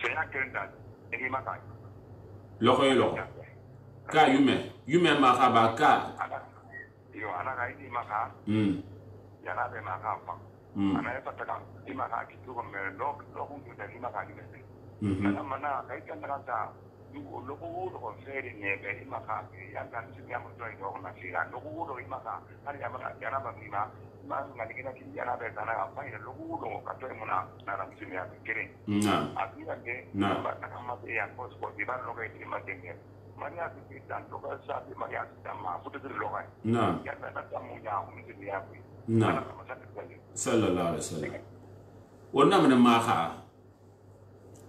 Saya kena ini makan. Loko loko. Ka yume yume maka baka. Yo anak ini makan. Hmm. Yana be makan apa? Anak itu tak ini makan itu kami lok lok untuk dari makan ini. Mana mana kaitan dengan Nuko loko wudo ko fere nebe imaka ya kan sinya mo join do na sira loko wudo imaka har ya maka yana ba mina ma ngani kina ki yana be kana apa ya loko wudo ka to muna na na sinya kire na akira ke na ba na kama ya ko ko di ba loko di ma tenge Maria ki tan to ka sa di Maria sama futu di loko na ya na ta mu ya mu di ya ku na sallallahu alaihi wasallam wonna mana maha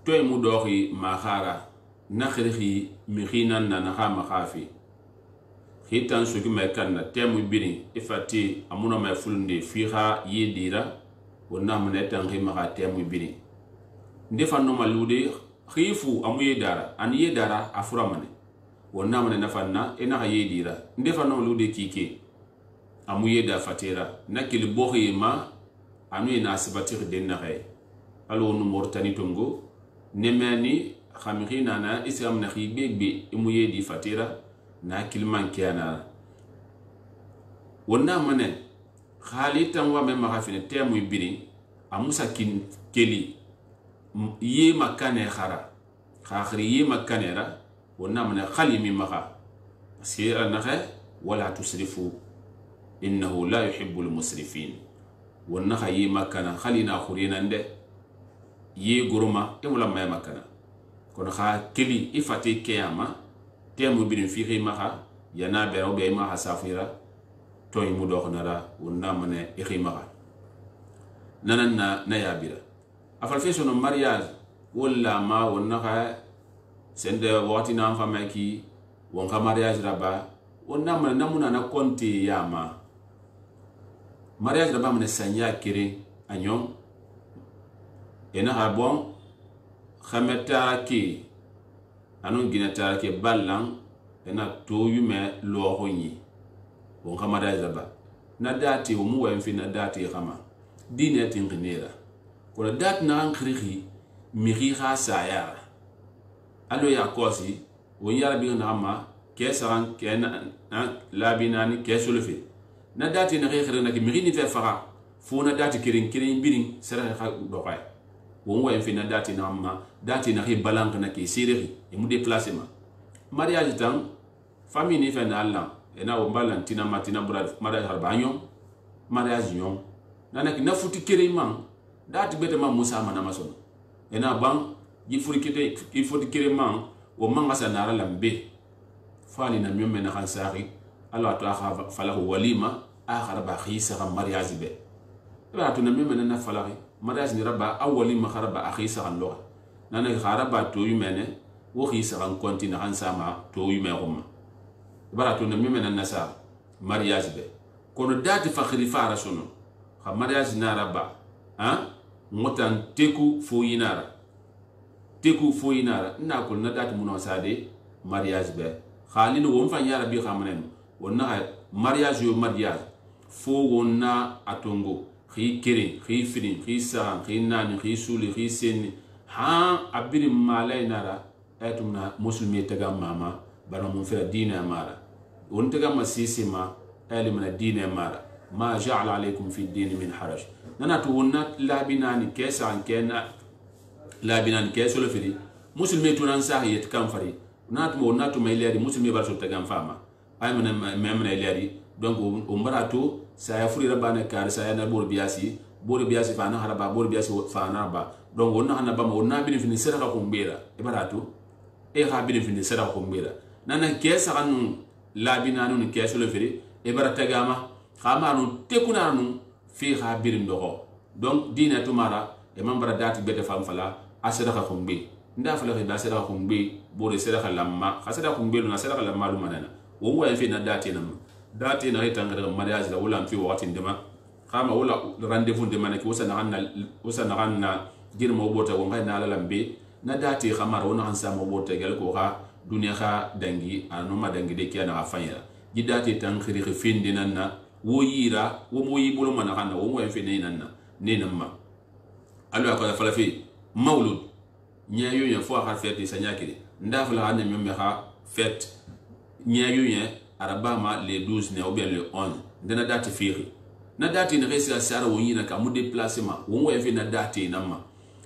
toy mu doxi maxara na xirixi mixinan na naxa maxafi xitan sugi mai kan na temu biri ifati amuna mai fulunde fixa ye dira wonna mana tan xi maxa temu biri nde fanno malude xifu amu ye dara an ye dara afura mane wonna mana nafanna ina xa ye dira nde fanno malude kike amu ye da fatira na kili boxi ma anu ina sibatir den na xey alo nu mortani tongo nemani khamikina na islam na khibegbe imuye di fatira na kilman kiana wonna mane khalitan wa mema khafine temu biri amusa kin keli ye makane khara khakhri ye makane ra wonna mane khalimi makha sira na kha wala tusrifu innahu la yuhibbul musrifin wonna khayi makana khalina khurina nde ye goroma e wala may makana kono kha keli ifate kiyama temu bin fi khimaha yana be o be ma hasafira toy mu do khonara wonna mane e khimaha nananna na yabira afal fe sono mariage wala ma wonna kha sende wati na fama ki won kha mariage raba wonna mane namuna na konti yama mariage raba mane sanya kire anyon ena ha bon khameta ki anu ginata ke ballan ena to yume lo honyi bon khamada zaba na dati o mu wen fi na dati khama dine tin ginera ko dat na an khiri mi ri kha saya alo ya kosi wo yara bi na ma ke saran ke na labinani ke sulfi na dati na khiri na ki mi ni fe fara fo na dati kirin kirin birin sara kha do khay won wa fi na dati na ma dati na hi balank na ki sirri e mu déplacement mariage tan famille ni fe na Allah e na o balan tina matina brad mariage harba nyon mariage nyon nana ki na futi kere man dati bete ma musa mana mason e na ban yi furi kete ki futi kere man o man asa na lambe fali na myome na khansari Allah to akha falahu walima akhara ba khisa mariage be ba to na myome na falari mariage ni raba awali ma kharaba akhisa kan lo nana kharaba to yumene wo khisa kan kontina kan sama to yume gumma baratu na mimena nasa mariage be kono dati fakhri fara sono kha mariage na raba ha motan teku fo yinara teku fo yinara na ko na dati muno sade mariage be khalino won fa yara bi khamanen wonna mariage yo mariage fo wonna atongo khi kiri khi fini khi sa khi nani khi suli khi sen ha abiri malay nara etumna muslimi taga mama bana mun fa dina mara won taga masisima ali mana dina mara ma ja'ala alaykum fi din min haraj nana to wonna labinani kesa kena labinani kesolo firi muslimi tunan sahiyet kam fari nat mo natu may leedi muslimi bar so taga fama ay mana memna leedi donc o mbarato saya furi rabana kar saya na bor biasi bor biasi fa na haraba bor biasi fa na ba donc wonna hana ba mo na bin fini sera ko mbira e barato e ha bin fini sera ko mbira nana kesa kanu labina nu keso le firi e barata gama khama nu tekuna nu fi ha birin dogo donc dina tumara e mambara dati bete fam fala asira ka khumbi nda fala da sera ko mbi bor sera ka lamma khasira ko mbi na sera ka lamma lu manana wo wa fi na dati na dati na hitanga daga mariage la wala fi wakati ndema khama wala rendez-vous ndema na ki wasa na hanna wasa na hanna girma bota ko ngai na la lambe na dati khamara wona hansa mo bota gal ko ha dunya kha dangi anoma dangi de kiana afanya jidati tan khiri khifindi nanna wo yira wo mo yibulu mana hanna wo mo en fi nanna nenamma alu akala fala fi maulud nyayo ya fo ha fete sanyakiri ndafala hanna memme ha fete nyayo ya arabama le douze ne ou bien le onze ndena date firi na date ne resi asara wonyina ka mu déplacement wo mo enfi na date namma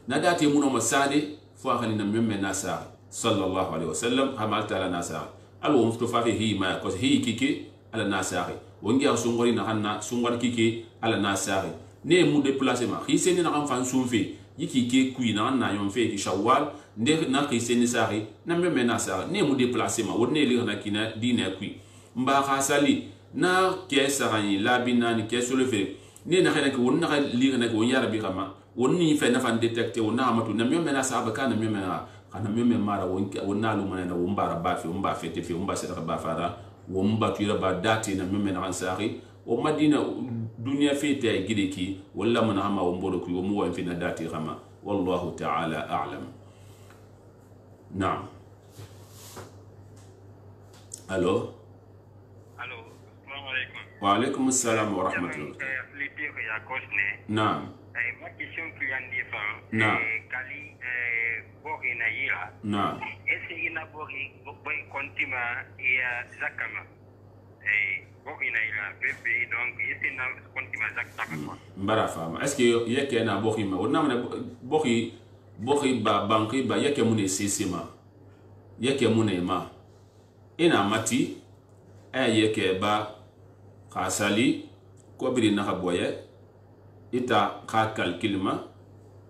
na date mu no masade fo khali na memme na sa sallallahu alaihi wasallam hamal taala nasa al wo mufto fa hi ma ko hi kike ala nasa wongi a sungori na hanna sungor kike ala nasa ne mu déplacement hi seni na kan fan sunfe yiki ke kui na na yon fe ki shawwal nde na ki seni sari na me me nasa ne mu déplacement wonne li na kina dina kui mba khasali na ke sarani labina ni ke solefe ne na khana ki wonna li na ko yara bi kama wonni fe na fan detecter wonna amatu na me me nasa ba kana me me na kana me me mara wonki wonna lu mana na wombara ba fe womba fete fe womba seta ba fara womba tuira ba dati na me me na sari o madina dunia fete ay gideki wala mana hama wombolo ku womu wa fina dati kama wallahu ta'ala a'lam. Naam. Allo. Allo. Assalamu alaikum. Wa alaikum assalam wa rahmatullah. Litir ya kosne. Naam. Eh ma question qui en défend. Naam. Kali eh bori na yira. Naam. Est-ce ina bori boy kontima ya zakama. Eh bori na yira bébé donc est-ce ina kontima zakama. Mbara fama. Est-ce que yake na bori ma wona mana bori bori ba banki ba yake mune sisima. Yake mune ma. Ina mati ay yake ba khasali ko biri na boye ita ka kalkilma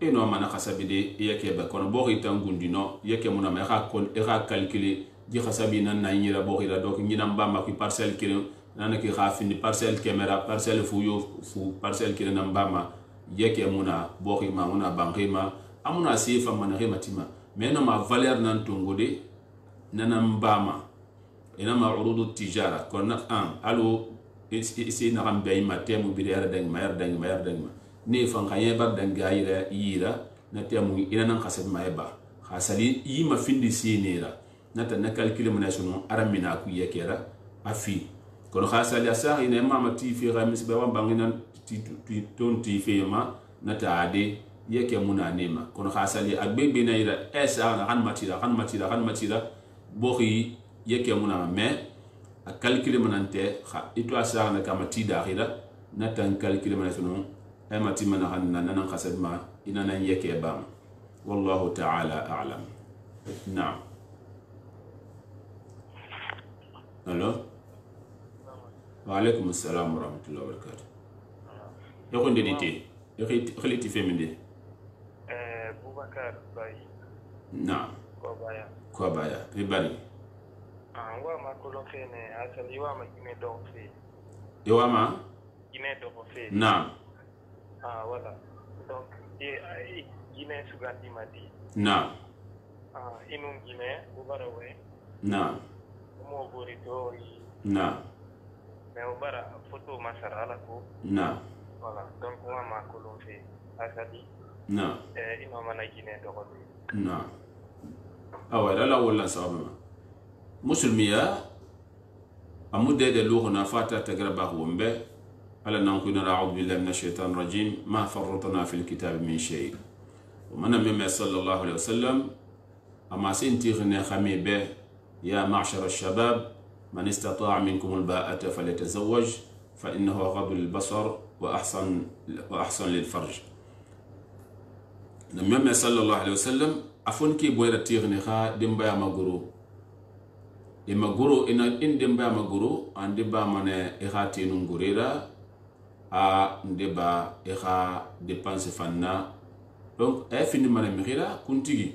ino mana khasabide yake ba kono bo ita ngundino yake muna ma ka kon e ka kalkili ji khasabi nan na nyira bo ira do nyina mbamba ki parcelle kire nana ki khafini parcelle camera parcelle fuyo fu parcelle kire nan mbamba yake muna bo ma muna bankima amuna sifa mana hematima mena ma valeur nan tungode nana mbama ina ma urudu tijara konna an alo isi na kan bay ma temu bi yara dang ma yara dang ma yara dang ma ne fan khaye bar dang gaira yira na temu ina nan khasab ma yaba khasali yi ma findi sinira na ta na calcul mun sunu aramina ku yekera afi kono khasali asa ina ma ma ti fi gamis ba wan bangina ti ton ti fi ma na ta ade yeke muna nema kono khasali agbe be na ira esa na kan matira kan matira kan matira bohi yeke muna me a calculer manante kha ito asa na kama ti dakhira na tan calculer manasuno ay mati man hanna nan khasad ma ina nan yake ba wallahu ta'ala a'lam. Na'am. Allo. Wa alaykum assalam wa rahmatullahi wa barakatuh. Yako ndedite yako khaliti feminde eh Boubacar Baye. Na'am. Ko baya ko baya ribari wa ma kolon fene asali wa ma gine do fe yo ma gine do fe na ah wala donc e ai gine sugandi mati na ah inun gine ubara we na mo bori to na me ubara photo masara la ko na voilà donc wa ma kolon fe asali na eh ino mana gine do ko na awara la wala sabama musulmiya amude de lughna fata tagraba wombe ala nankuna a'udhu billahi minash shaitanir rajim ma farratna fil kitab min shay wa man mimma sallallahu alayhi wasallam ama sinti khna khami be ya ma'shar ash-shabab man istata'a minkum al-ba'ata falyatazawwaj fa innahu aghaddu lil-basar wa ahsan wa ahsan lil-farj. Nabi sallallahu alayhi wasallam afon ki boyra tirni kha dimba maguru e maguru ina inde mba maguru ande ba mane e khati nungurira a ndeba e kha dépense fanna donc e fini mane mira kuntigi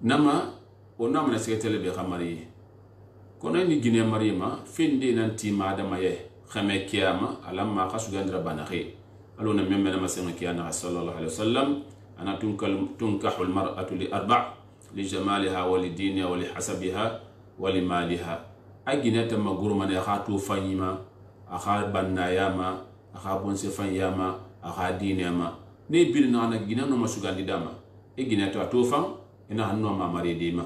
nama ona mane seketele be khamari kono ni gine marima finde nan ti madama ye khame kiyama alamma khasugandra banahi alona memme na masema kiyana sallallahu alaihi wasallam ana tunkal tunkahul mar'atu li arba' li jamaliha wa li diniha wa li hasabiha wa li maliha aginata maguru man ya khatu fanyima akha bannayama akha bonse fanyama akha dinema ne bil na na gina no masugandi dama e ginata to fan ina hanno ma mare dima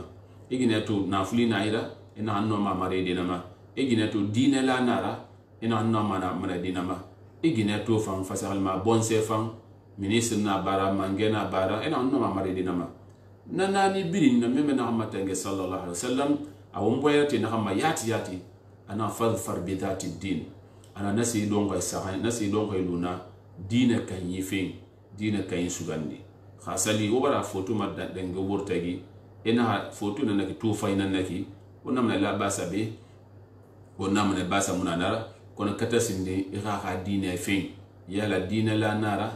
e ginato na fulina ira ina hanno ma mare dinama e ginato dine la nara ina hanno ma na mare dinama e ginato fan fasal ma bonse fan ministre na bara mangena bara ina hanno ma mare dinama nanani birin na meme na matenge sallallahu alaihi wasallam awon boyati na kama yati yati ana fadfar bi dhati din ana nasi donga sahan nasi donga luna dina kan yifin dina kan sugandi khasali wara foto madda denga wurtagi ina foto na naki to fa ina naki wonna mana la basa be wonna mana basa munanara kono kata sinde ira ha dine fin yala dine la nara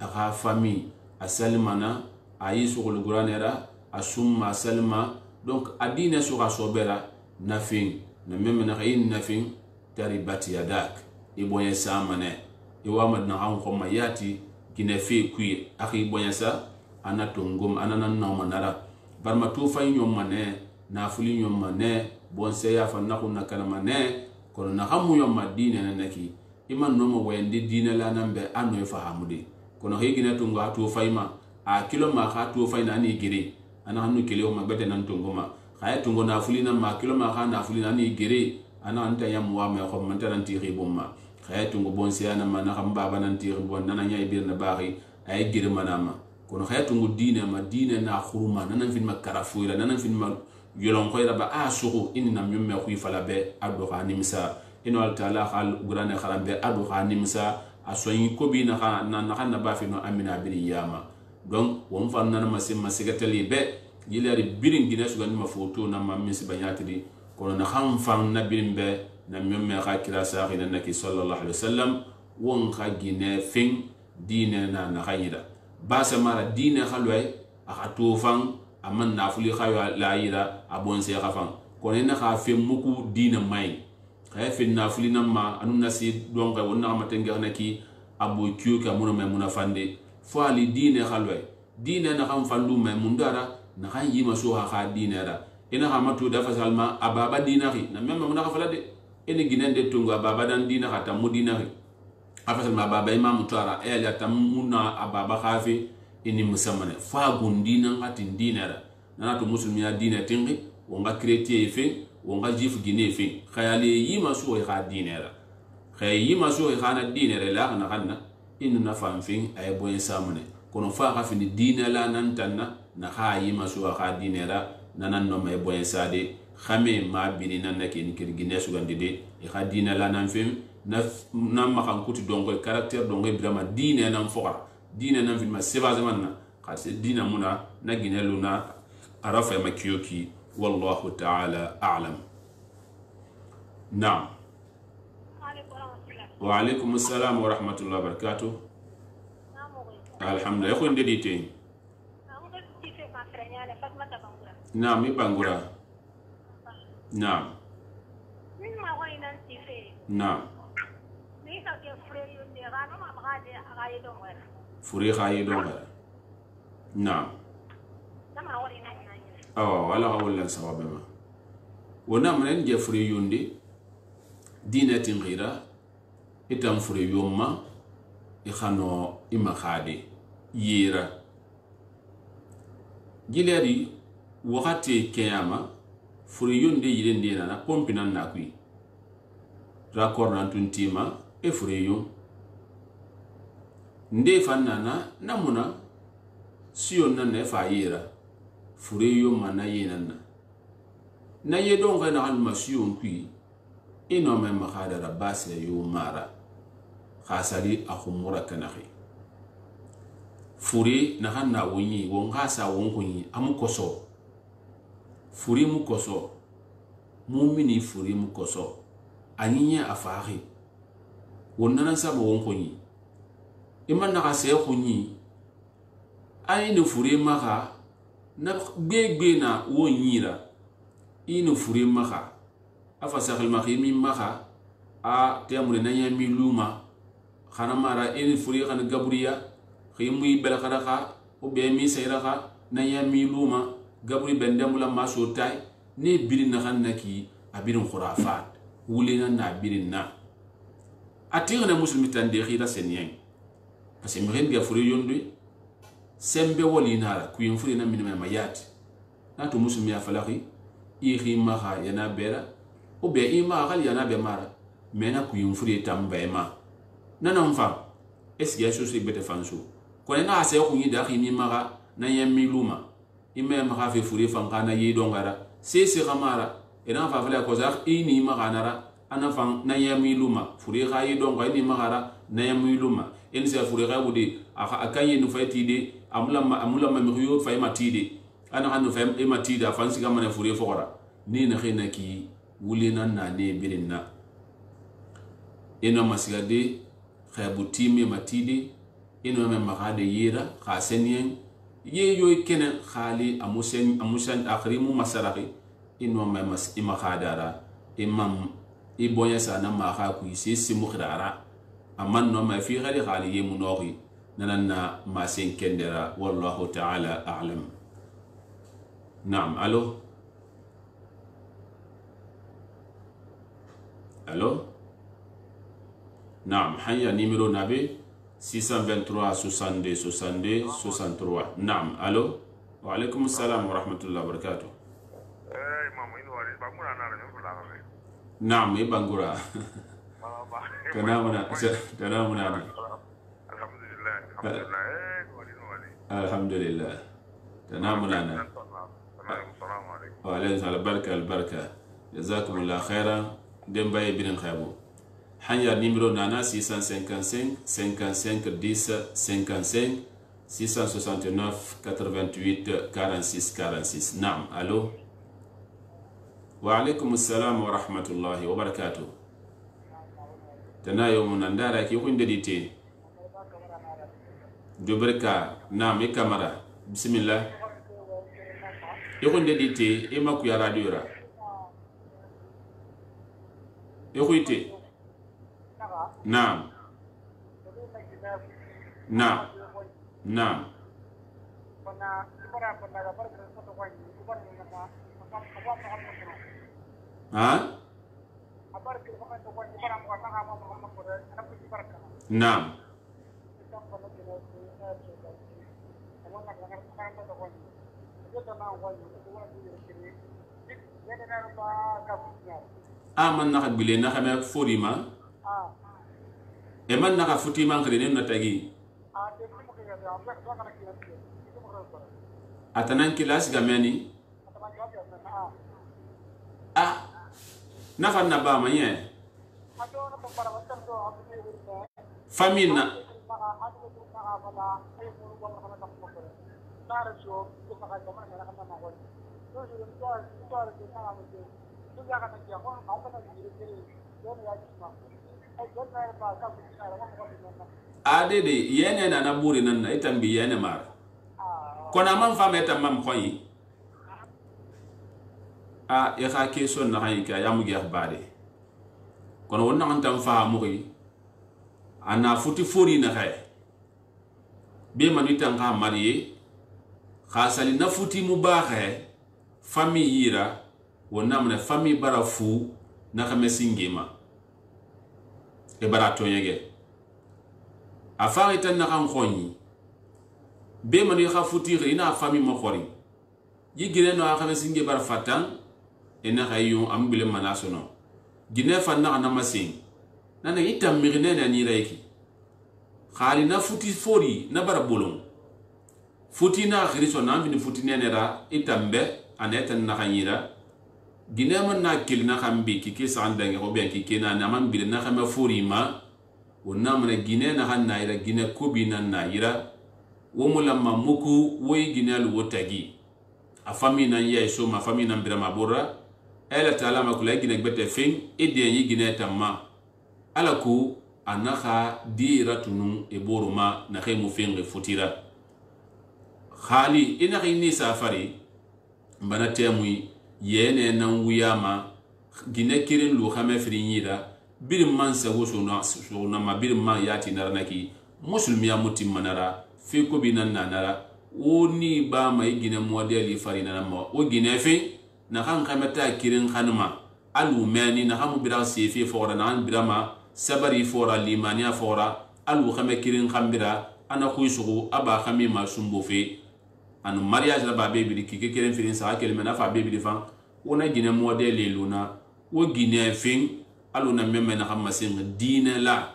aga fami asalmana ayi sugul guranera asumma salma donc adine suga sobera nafin na meme na yin nafin taribati yadak iboye samane iwama na han ko mayati gine fe kui akhi boye sa anatongom anana na manara barma to fa nyom mane na fuli nyom mane bon se ya fa na kunna kalama ne kono na hamu yom madina na naki iman no mo wende dina la nambe ano fahamude kono hegina tungo atu faima a kilo ma ha tu faina ni gire ana hanu kele o mabete nan tungo ma khaya tungo na fuli na ma kilo ma ha na fuli na ni gire ana anta yam wa me ko man tan ti khibumma khaya tungo bon se ana ma na khamba banan ti bon nana nyay bir na bari ay gire manama kono khaya tungo dina ma dina na khuruma nanan fin makara fuira nanan fin ma yolon khoyra ba a suku inna myumme khu fala be ado ha nimsa ino al taala khal gurane kharambe ado ha nimsa asoyi ko bi na na na ba fi no amina bir yama donc won fan na ma sim masigatali be yilari birin gina su ganima foto na ma misi banyatri kono na kham fan na birin be na myumme kha kira sa khina naki sallallahu alaihi wasallam won kha gine fin dine na na khayira ba sa mara dine khalway aka to fan aman na fuli khayo la yira abon se khafan kono na kha fe muku dina mai kha fe na fuli na ma anu nasi donc wonna ma tenga naki abu kyu ka muno me muna fande fo ali dine khalway dine na kham fandu me mundara na khan yima so ha kha dine ra ina ha matu da fasalma ababa dinari na memma muna khafala de ene ginende tungo ababa dan dina khata mudinari afasalma ababa imam tara e ya tamuna ababa khafi ini musamane fa gundina ngati dinara nana to muslimi ya dina tingi wonga chrétien fe wonga jif gine fe khayali yima so e kha dinara khay yima so e khana dinara la kana kanna inu na famfin ay boyen samane kono fa kha fini dina la nan tanna na kha yima so kha dinara nanan no may boyen sade khame ma bini nan nake ni kirgine su gandide e kha dina la nan fim na na ma kan kuti dongo caractère dongo brama dina nan fora dina nan film seba zamanna qase dina muna na gineluna arafa makiyoki wallahu ta'ala a'lam. Naam. Wa alaikum assalam wa rahmatullahi wa barakatuh. Alhamdulillah ko ndedi te. Naam mi bangura. Naam. Naam. Furi khayi donga. Naam. Awa wala hawla sababama. Wona manen je furi yundi dina tingira itam furi yumma i khano ima khade yira gileri wakati kiyama furi yundi yirende na pompi nan na kui rakor nan tuntima e furi yum nde fannana namuna siyon nan ne fa yira furi yum mana yinanna na yedon ga na alma siyon kui ino me makhadara base yu mara khasali akhumura kanahi furi na hanna wonyi won khasa won kunyi amu koso furi mu koso mumini furi mu koso aninya afahi wonnana sabo won kunyi iman na khase kunyi ayini furi maka na gbegbe na wonyira ino furi maka afa sakhil makhimi maka a temure na yami luma khana mara eni furi khana gabriya khimu bel khadaka o be mi sayraka na yami luma gabri bendamula masotai ne birin na khanaki abirin khurafat wulina na birin na atirna muslimi tande khira senyen parce que mi ga furi yondu sembe wolina ku yin furi na minima mayati na to muslimi ya falaki i khima kha yana bera o be ima khali yana be mara mena ku yin furi tambe ma nanan fa eski ya sosi bete fansu ko na ase ku yi da khimi mara na yemi luma ime ma kha fe furi fan kana yi dongara se se khamara ina fa fala ko zakh ini ma kanara ana fan na yemi luma furi kha yi donga ini magara na yemi luma en se furi kha wudi aka akayi nu fayti de amula amula ma miyo fay matide ana hanu fam e matida fansi ga mane fure fora ni na khina ki wulina na ne birinna eno masigade khabuti me matidi eno me magade yira khasenien ye yo kene khali amusen amusan akhrimu masaraki eno me mas imakhadara imam ibonya sana ma kha ku isi simu khirara amman no ma fi ghali khali yemu noxi nanana ma sen kendera wallahu ta'ala a'lam. Naam, allo allo naam, hanya numéro nabe six cent vingt-trois soixante-deux soixante-deux soixante-trois. Naam, allo wa alaykum assalam wa rahmatullahi wa barakatuh. eh mama ino wali ba muna na na fula ga Naam, e bangura tanamuna tanamuna alhamdulillah alhamdulillah eh wali no wali alhamdulillah tanamuna assalamu alaikum wa alaykum albarka albarka jazakumullah khairan dembaye bin khaibu. Hanya numéro nana six cent cinquante-cinq cinquante-cinq dix cinquante-cinq six cent soixante-neuf quatre-vingt-huit quarante-six quarante-six. Naam, allo wa alaykum assalam wa rahmatullahi wa barakatuh. Tana yomu nandara ki kunde dite dubrika. Naam, e kamara bismillah e kunde dite e maku ya radio ra e kuite. Naam naam naam ha naam aman naka bile naka me forima e man naka futi man khire na tagi atanan kilas gamani ah nafa na ba manye famina ade de yene na na buri nan na itambi yene mar kona man fama etam mam khoyi a ya kha ke son na hay ka yamu ge bade kono wonna man tam fa mu ri ana futi fori na khay be man itan ka mariye khasali na futi mu ba khay fami yira wonna man fami bara fu na khame singema e bara to yege afari tan na kan khoni be man ya futi ri na fami mo khori yigire no khame singe bar fatan ena hayu ambile manasono gine fanna na masin nana itam mirne na ni reiki khali na futi fori na bara bolon futi na khiriso na bin futi nenera itambe aneta na khanyira gine man na kil na khambi ki ki sandange ho be ki kena na man bil na khama fori ma wonna man gine na hanna ira gine kubi nan na ira wo mulamma muku woy gine al wotagi a fami nan yeso ma fami nan birama borra ela taala ma kula gine gbete fin ide yi gine tamma alaku anakha diratunu e boruma na khemu fin futira khali ina khini safari mbana temui yene nan wuyama gine kirin lu khame frinyira bir man sago sona sona ma bir man yati narnaki muslimiya mutim manara fi ko binan nanara oni ba mai gine modeli farina na mo o gine fi na kan kamata kirin khanma alu mani na hamu bira sefi fora na an birama sabari fora limania fora alu khame kirin khambira ana khuisugo aba khami ma sumbo fe anu mariage la ba bebi ki ke kirin firin sa kelme na fa bebi fan ona gine modeli luna o gine fin alu na memme na hamma sin dine la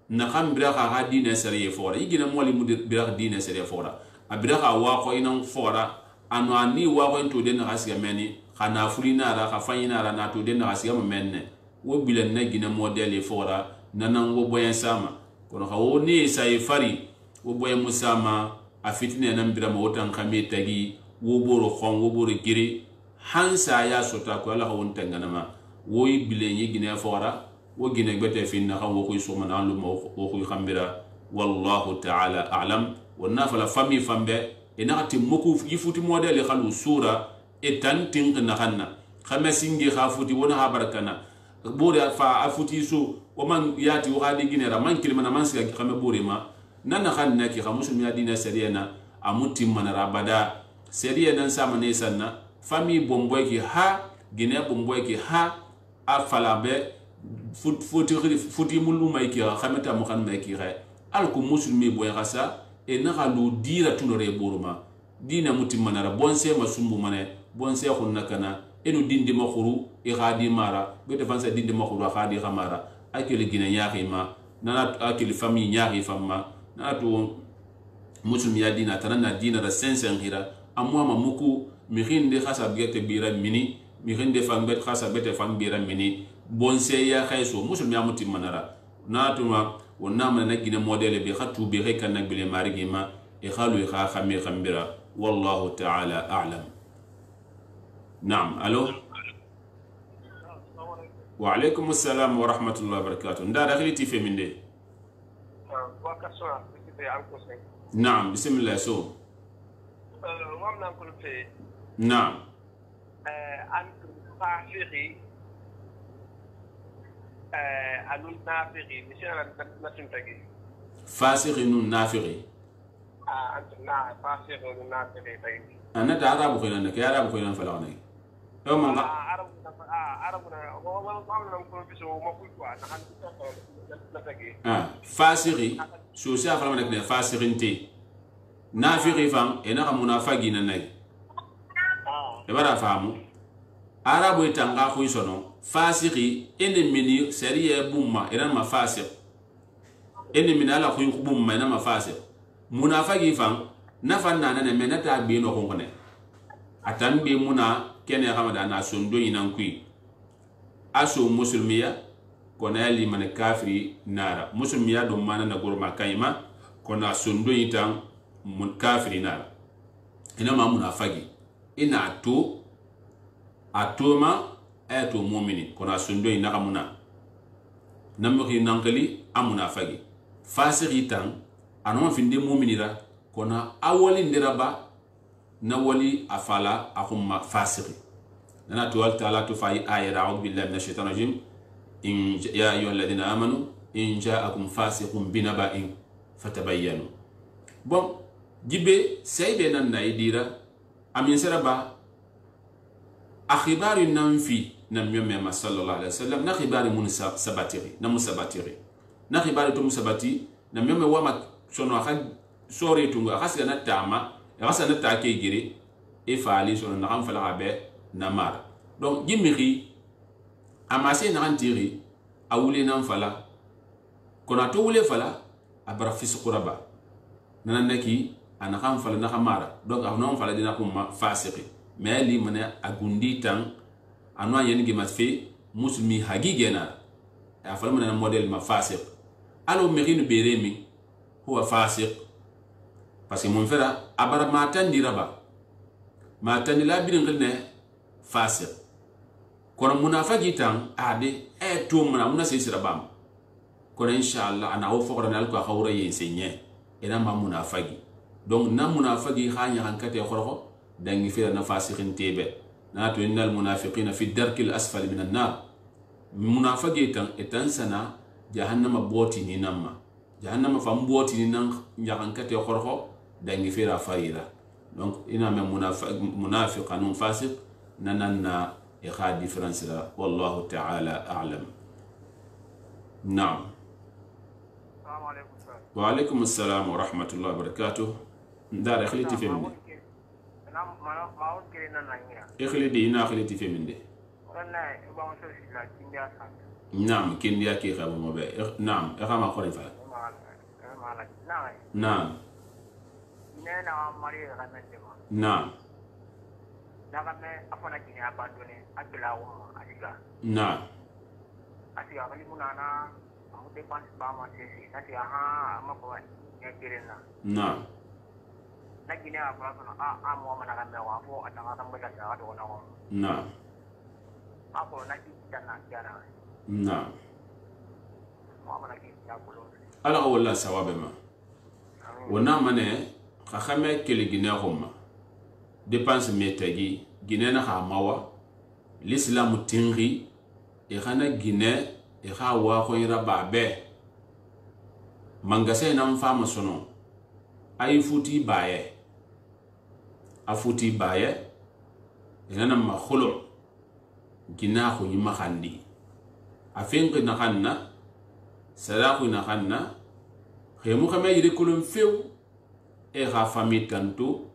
na khambira kha ha dine sariye fora igine moli mudir bira dine sariye fora abira kha wa ko inan fora anu ani wa ko to den hasiga meni khana fulina ra khafanyina ra na to den hasiga menne wo bilen na gine modeli fora nanan wo boyen sama kono khawo ni sai fari wo boyen musama afitine nan bira mo tan khame tagi wo boro khon wo boro giri hansa ya sota ko ala hawon tanganama wo ibile yi gine fora wo gine gbete finna kan wo ko suma na lu mo wo ko khambira wallahu ta'ala a'lam wonna fala fami fambe ina ati moku yifuti model khalu sura etan tin na khanna khamasingi khafuti wona ha barakana bore fa afuti so o man yati wo hadi ginera man kilima na man siga khame bore ma nan khanna ki khamusul ya dina sariyana amuti manara bada seriya dan sama ne sanna fami bomboy ki ha gine bomboy ki ha afala be futi futi mulu mai ki khameta mo khan mai ki khay alku muslimi boy khasa e nakalu dira tunore boroma dina muti manara bonse masumbu mane bonse khunna kana enu dindi makhuru e khadi mara be defansa dindi makhuru khadi khamara akili gina yaaki ma nana akili fami yaaki famma na to muslimi ya dina tanana dina da sensen hira amwa mamuku mi khinde khasa bete bira mini mi khinde fambet khasa bete fambira mini bonse ya khayso muslimi ya muti manara na to ma wonna man na gina modele bi khatu bi khay kan nagbele marigi ma e khalu kha khami khambira wallahu ta'ala a'lam. نعم الو وعليكم السلام ورحمه الله وبركاته ندا دخلتي في من دي نعم بسم الله سو نعم فاسق نافقي أنا تعرف خير أنك يا رب خير فلاني يوم ما عرب عربنا آه فاسقي شو سافر منك نه فاسقينتي نافقي فهم أنا منافقين الناي تبارك فهمو عرب يتانغا خوي سنو فاسقي إن مني سريع بوما إيران ما فاسق إن من على خوي بوما إنا ما فاسق منافقي فهم nafan nana ne menata be no ko ne atambe muna kene hamada na sondo yinan kui aso muslimiya ko na li man kafiri nara muslimiya do mana na gorma kayma ko na sondo yitan mun kafiri nara ina ma munafagi ina to atoma ato mu'mini ko na sondo yina kamuna namuhi nankali amunafagi fasiri tan anoma finde mu'minira kona awali ndiraba na wali afala akhumma fasiqi nana tuwal ta'ala tufai ayat a'udhu billahi minash shaitanir rajim in ya ayyuhalladhina amanu in ja'akum fasiqun binaba'in fatabayyanu bon jibe saybe nan na idira amin saraba akhibari nanfi nam yomma sallallahu alaihi wasallam na khibari mun sabatiri na musabatiri na khibari to musabati nam yomma wama sono akha sori tunga khasga na tama khasga na take gire e fali sono na kan fala be na mar donc jimiri amase na antiri awule nan fala kona to wule fala abara fisquraba nan naki ana kan fala na khamara donc avnon fala dina kuma fasiqi mais li mana agundi tan anwa yen gi matfe muslimi hagigena ya fala mana model ma fasiq alo merino beremi huwa fasiq parce que mon frère abara matan diraba matan la birin gilne fasiq kono munafaqi tan ade e to muna muna sey sirabam kono inshallah ana wo fokra nal ko xawra yensenye ina ma munafaqi donc na munafaqi khanya hankate khorxo dangi fira na fasiqin tebe na to innal munafiqina fi darkil asfali minan nar munafaqi tan etan sana jahannama boti ni namma jahannama fam boti ni nan nyahankate khorxo dangi fira faira donc ina me munafiq munafiq anun fasiq nanana e kha difference la wallahu ta'ala a'lam. Naam. Assalamu alaykum sir. Wa alaykum assalam wa rahmatullahi wa barakatuh. Ndara khliti fi minde. Nam ma ma on kire nan nanya. Ikhlidi ina khliti fi minde. Wala ba on so sila kindia sa. Naam kindia ki khaba mo be. Naam e khama khori fa. Naam. Nena mari ramende ma. Naam. Daga me afana kini abandone akila wo asiga. Naam. Asiga kali munana amu depanse ba ma sesi nati aha ama ko ya kirena. Naam. na gine a fara sono a a mo mana kan da wa fo a tanga kan bada da do na wa na a ko na ki tanna kana na mo mana ki ta ko ala wala sawabe ma wona mane ka khame kele gine xoma dépense metagi gine na ha mawa l'islam tingi e xana gine e xa wa ko ira babe mangase na mfama sono ay futi baye a futi baye ina ma khulu gina ko yima khandi a fengi na khanna sadaku na khanna khemu khame yiri kulum few e kha fami tantu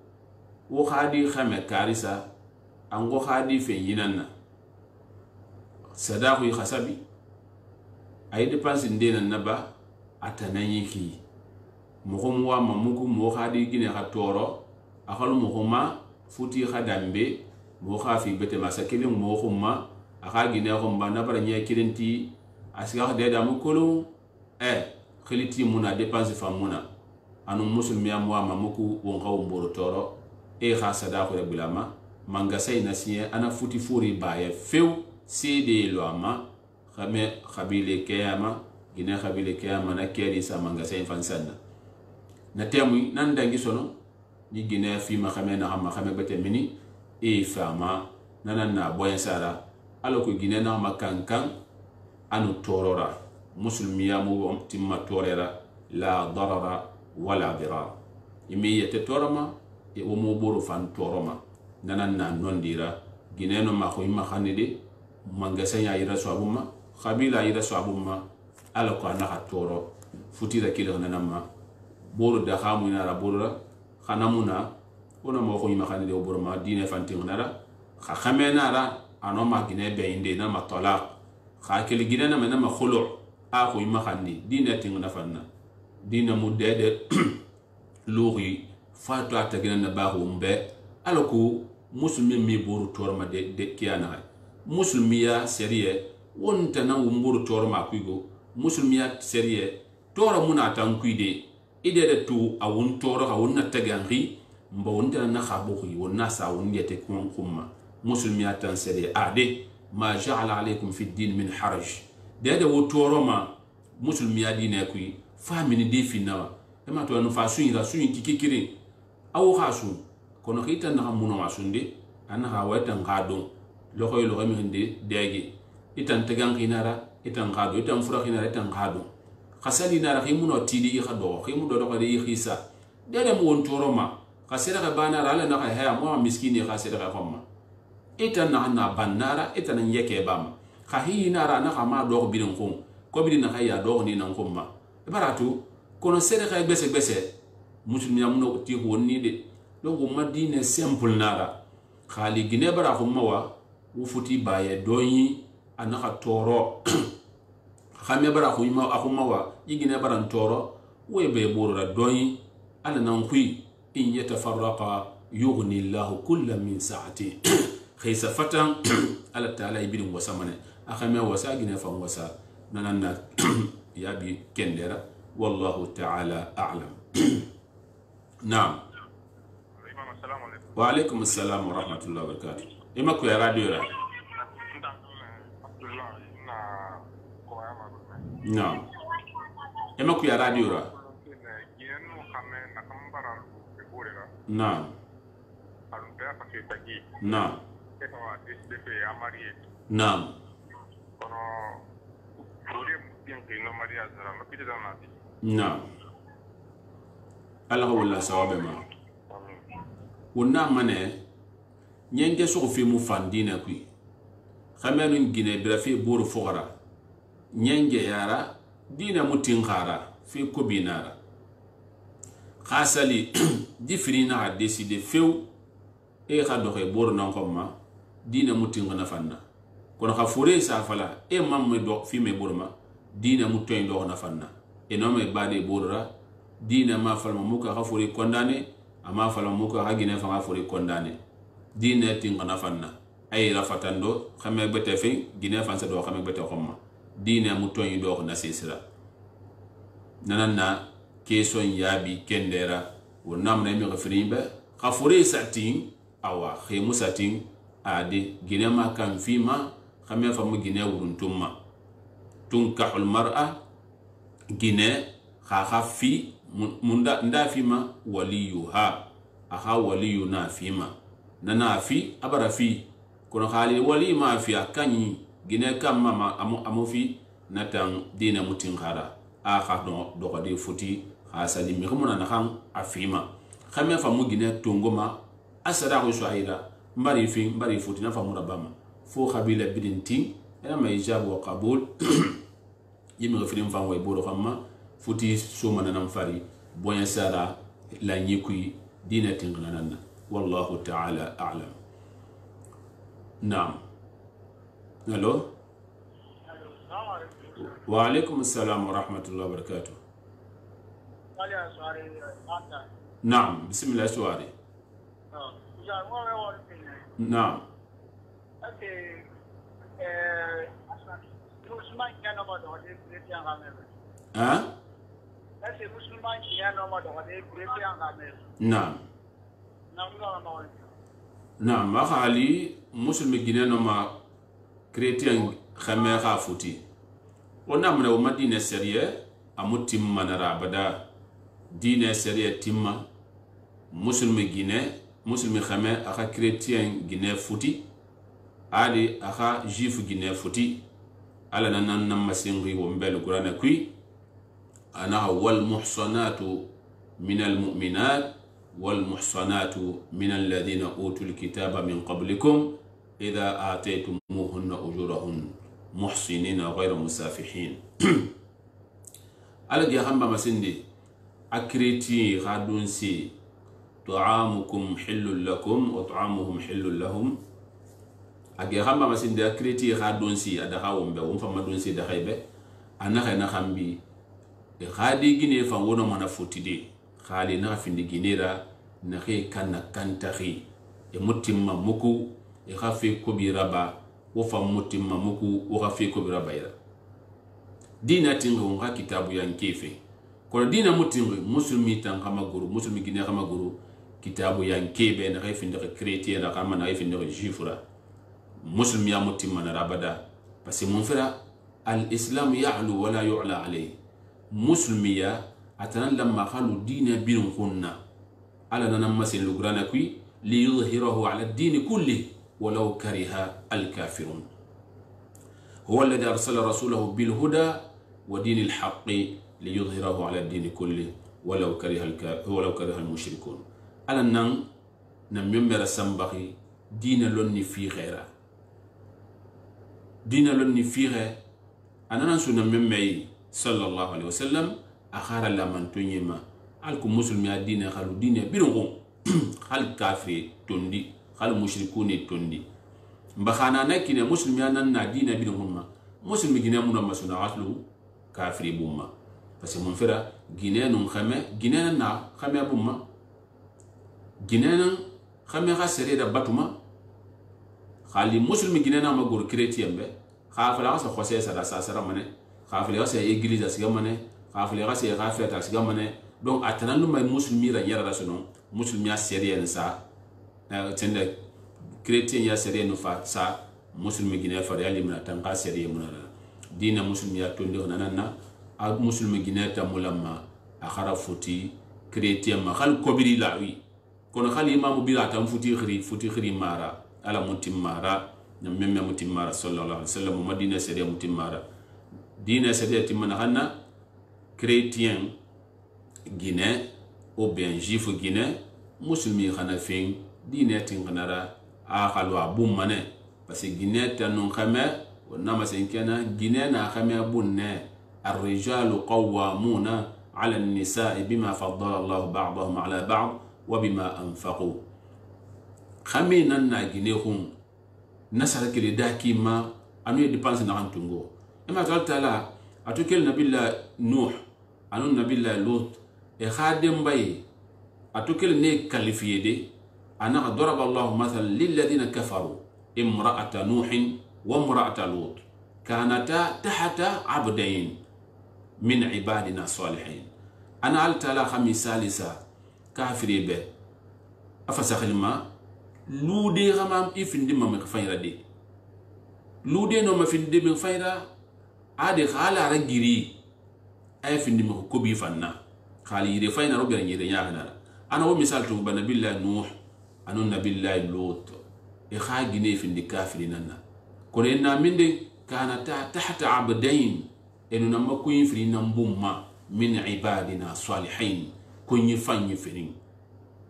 wo khadi khame karisa ango khadi fe yinanna sadaku khasabi ay dépense ndena naba atanayiki mogomu wa mamuku mo khadi gine kha toro akhalu mogoma futi khadambe mo khafi bete masakile mo khumma akha gine khumba nabara nya kirenti asiga de da mukulu eh khiliti muna dépense famuna anu muslimi am wa mamuku won khaw mboro toro e kha sada ko bilama manga say nasiye ana futi furi baye few cede lo ama khame khabile kiyama gine khabile kiyama na keri sa manga say fansanna na temu nan dangi sono ni gine fi ma khame na ma khame bete mini e fama nanan na boyen sara alo ko gine na ma kankan anu torora muslimiya mu timma torera la darara wala dirar imi yete torama e o mo boro fan toroma nanan na nondira gine no ma ko ima khanide mangasa ya ira swabuma khabila ira swabuma alo ko na ha toro futira kilo nanama boro da khamu ina ra boro khanamuna ona mo ko ima khanide o boro ma dine fantin nara kha khamena ra anoma gine be inde na ma talaq kha kel gine na ma khulu a ko ima khandi dine tin na fanna dina mudede lori fatu atagina na ba humbe alako muslimi mi boru torma de de kiana muslimiya seriye wonta na wumburu torma kuigo muslimiya seriye tora muna tan kuide ide de tu awun toro awun na taganri mba wonta na khabuhi wonna sa won yete kun kumma muslimiya tan seriye ade ma ja'ala alaykum fi din min haraj de de wo toroma muslimiya dine kui famini de finawa ema to no fa suira suin kikikiri awu khasu kono khita na muno masunde ana ha wata ngado lokhoy lo gami hinde degi itan tegan kinara itan ngado itan fura kinara itan ngado khasali nara khimuno tidi i khado khimu do do khadi khisa dede mo won toroma khasira ka banara ala na ha mo miskini khasira ka khomma itan na na banara itan yeke bam khahi nara na khama do birin khum ko birin na khaya do ni nan khumma baratu kono sere kay gbese gbese muslimiya muno ti honni de logo madine simple nara khali gine bara khumma wa wufuti baye doyi anaka toro khame bara khuma akhumma wa yigine bara toro we be borora doyi ala nan kui in yatafarraqa yughni Allah kullam min sa'ati khaysa fatan ala taala ibidin wasamane akhame wasa gine fa wasa nananna yabi kendera والله تعالى أعلم. نعم. السلام عليكم. وعليكم السلام ورحمة الله وبركاته. إما كوي راديو را. نعم. إما كوي راديو را. نعم. نعم. نعم. نعم الله ولا سواب ما ونا منه نينجي سوق في مفاندينا كوي خمن جيني برافي بور فقرا نينجي يارا دينا متين خارا في كوبينارا خاصلي ديفرينا ديسيدي فيو اي خادو خي بور نانكوما دينا متين غنا فنا كون خفوري سافلا اي مام دو في مي بورما dina mutoy ndo na fanna enome bade borra dina ma falma muka khafuri kondane ama falma muka hagine fa khafuri kondane dina tinga na fanna ay rafatando xame bete fe gine fansa do xame bete xomma dina mutoy ndo na sisira nanana keson yabi kendera ونام نمي غفرين به خفوري ساتين أو خيمو ساتين عادي جنيه ما كان فيما خمية فم جنيه ورنتما تنكح المرأة جنيه خاخا في مندا ندا فيما وليها أخا ولينا فيما ننا في أبرا في كنا خالي ولي ما في أكاني جنيه كم ما أمو أمو في نتان دين متين خارا أخا دو دو دي فوتي خاصة دي مخمونا نخان أفيما خمية فم جنيه تونغما أسرع وشعيرا mbari fi mbari futi na famura bama fo khabila bidinti ena ma ijab wa qabul yimi gafirin fan way boro famma futi suma nan fari bonya sara la nyikui dinatin gananna wallahu ta'ala a'lam. Naam. Hello. Wa alaikum assalam wa rahmatullahi wa barakatuh. Naam, bismillah suwari. Naam. Okay. Eh, Musliman kan nama doa dia Christian kami. Ha? Ese Musliman kan nama doa dia Christian kami. Naam. Nama nama. Naam, ma khali muslim gine no ma chrétien khame kha futi. Ona mna o madina seriye amutim manara bada dine seriye timma muslim gine muslim khame aka chrétien gine futi ali aka juif gine futi ala nan nan masingi wo mbel qur'ana kui ana wal muhsanatu min al mu'minat wal muhsanatu min alladhina utul kitaba min qablikum idha ataytumuhunna ujurahun muhsinina ghayra musafihin. Ala gi hamba masindi akreti khadunsi طعامكم حل لكم وطعامهم حل لهم اجي خamba masinde akreti khadonsi adaha wombe won fama donsi da khaybe anaka na khambi e khadi gine fa wono mana fotide khali na findi ginera na khe kanna kantahi e mutimma muku e khafi ko bi raba wo fa mutimma muku wo khafi ko bi raba ira dina tingo nga kitabu yankefe ko dina mutingo muslimi tan kama guru muslimi gine kama guru kitabu yankebe na khafi ndaka chrétien na kama na khafi ndaka jifura مسلم يا متم من رابدا بس منفرا الإسلام يعلو ولا يعلى عليه مسلم يا أتنا لما قالوا دين بين خنا على ننمس اللجران كوي ليظهره على الدين كله ولو كره الكافرون هو الذي أرسل رسوله بالهدى ودين الحق ليظهره على الدين كله ولو كره الك ولو كره المشركون على نن نميمر سنبغي دين لوني في غيره دين لوني فيه أنا نسون ممي صلى الله عليه وسلم أخار لمن تنيما هلكم مسلم يا دين خلو دين بيرون خل كافر تندي خل مشركون تندي بخانا نكين مسلم يا نن دين بيرون ما مسلم جنا منا مسنا عطلو كافر بوما بس منفرا جنا نون خمة جنا نا خمة بوما جنا خمة خسرة دبتوما خالي مسلم جننا ما غور كريتيان به خافلا غا خوسه سدا ساسرا منه خافلا غا سي ايغليز اسغا منه خافلا غا سي غافيت اسغا منه دونك اتنان ما مسلمي را يرا سنو مسلمي سيريان سا تند كريتيان يا سيريان فا سا مسلم جنا فريالي من تنقا سيريان من دين مسلم يا توندو نانا ا مسلم جنا تمولما اخرا فوتي كريتيان ما خال كوبري لاوي كون خال امام بيرا تام فوتي خري فوتي خري مارا ala mutimara na memme mutimara sallallahu alaihi wasallam madina sariya mutimara dina sariya timana hanna chrétien guiné ou bien juif guiné muslimi khana fin dina tinganara a khalwa bum mané parce que guiné tanon khama ونما سينكنا جنانا خميا بنا الرجال قوامون على النساء بما فضل الله بعضهم على بعض وبما أنفقوا خمينا نجنيهم نسأل كل داكي ما أنو يدبانس نعنتونغو إما قالت لا أتوكل نبي الله نوح أنو نبي الله لوط إخادم باي أتوكل نيك كالفيدي أنا ضرب الله مثلا للذين كفروا امرأة نوح وامرأة لوط كانتا تحت عبدين من عبادنا الصالحين أنا قلت لا خمي ثالثة kafiri be afa sakhilma lude xama ifindi mam khafayra de lude no ma finde mi fayra ade khala ra giri ay findi mi ko bi fanna khali yire fayna robi yire nyaana ana wo misal to bana billahi nuh anu nabillahi lut e kha gine findi kafiri nanna kono enna minde kana ta tahta abdain enu namma ko yifri nan bumma min ibadina salihin kunyi fanyi firin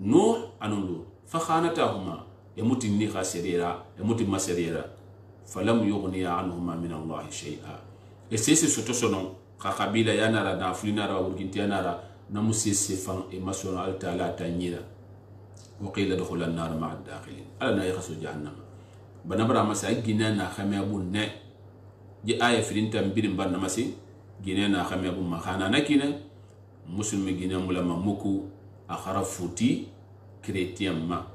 nuh anu lut fa khanatahuma yamuti ni khasirira yamuti masirira falam yughniya anhuma min Allah shay'a e sese soto sono kha kabila yanara na fulina ra urginti yanara na musese fan e masona al taala tanyira wa qila dukhul an-nar ma'a ad-dakhilin ala na yakhasu jahannam banabara masa gina na khame abun ne ji aya firinta mbirin banna masi gina na khame abun ma khana nakina muslimi gina mulama muku akhara futi chrétien ma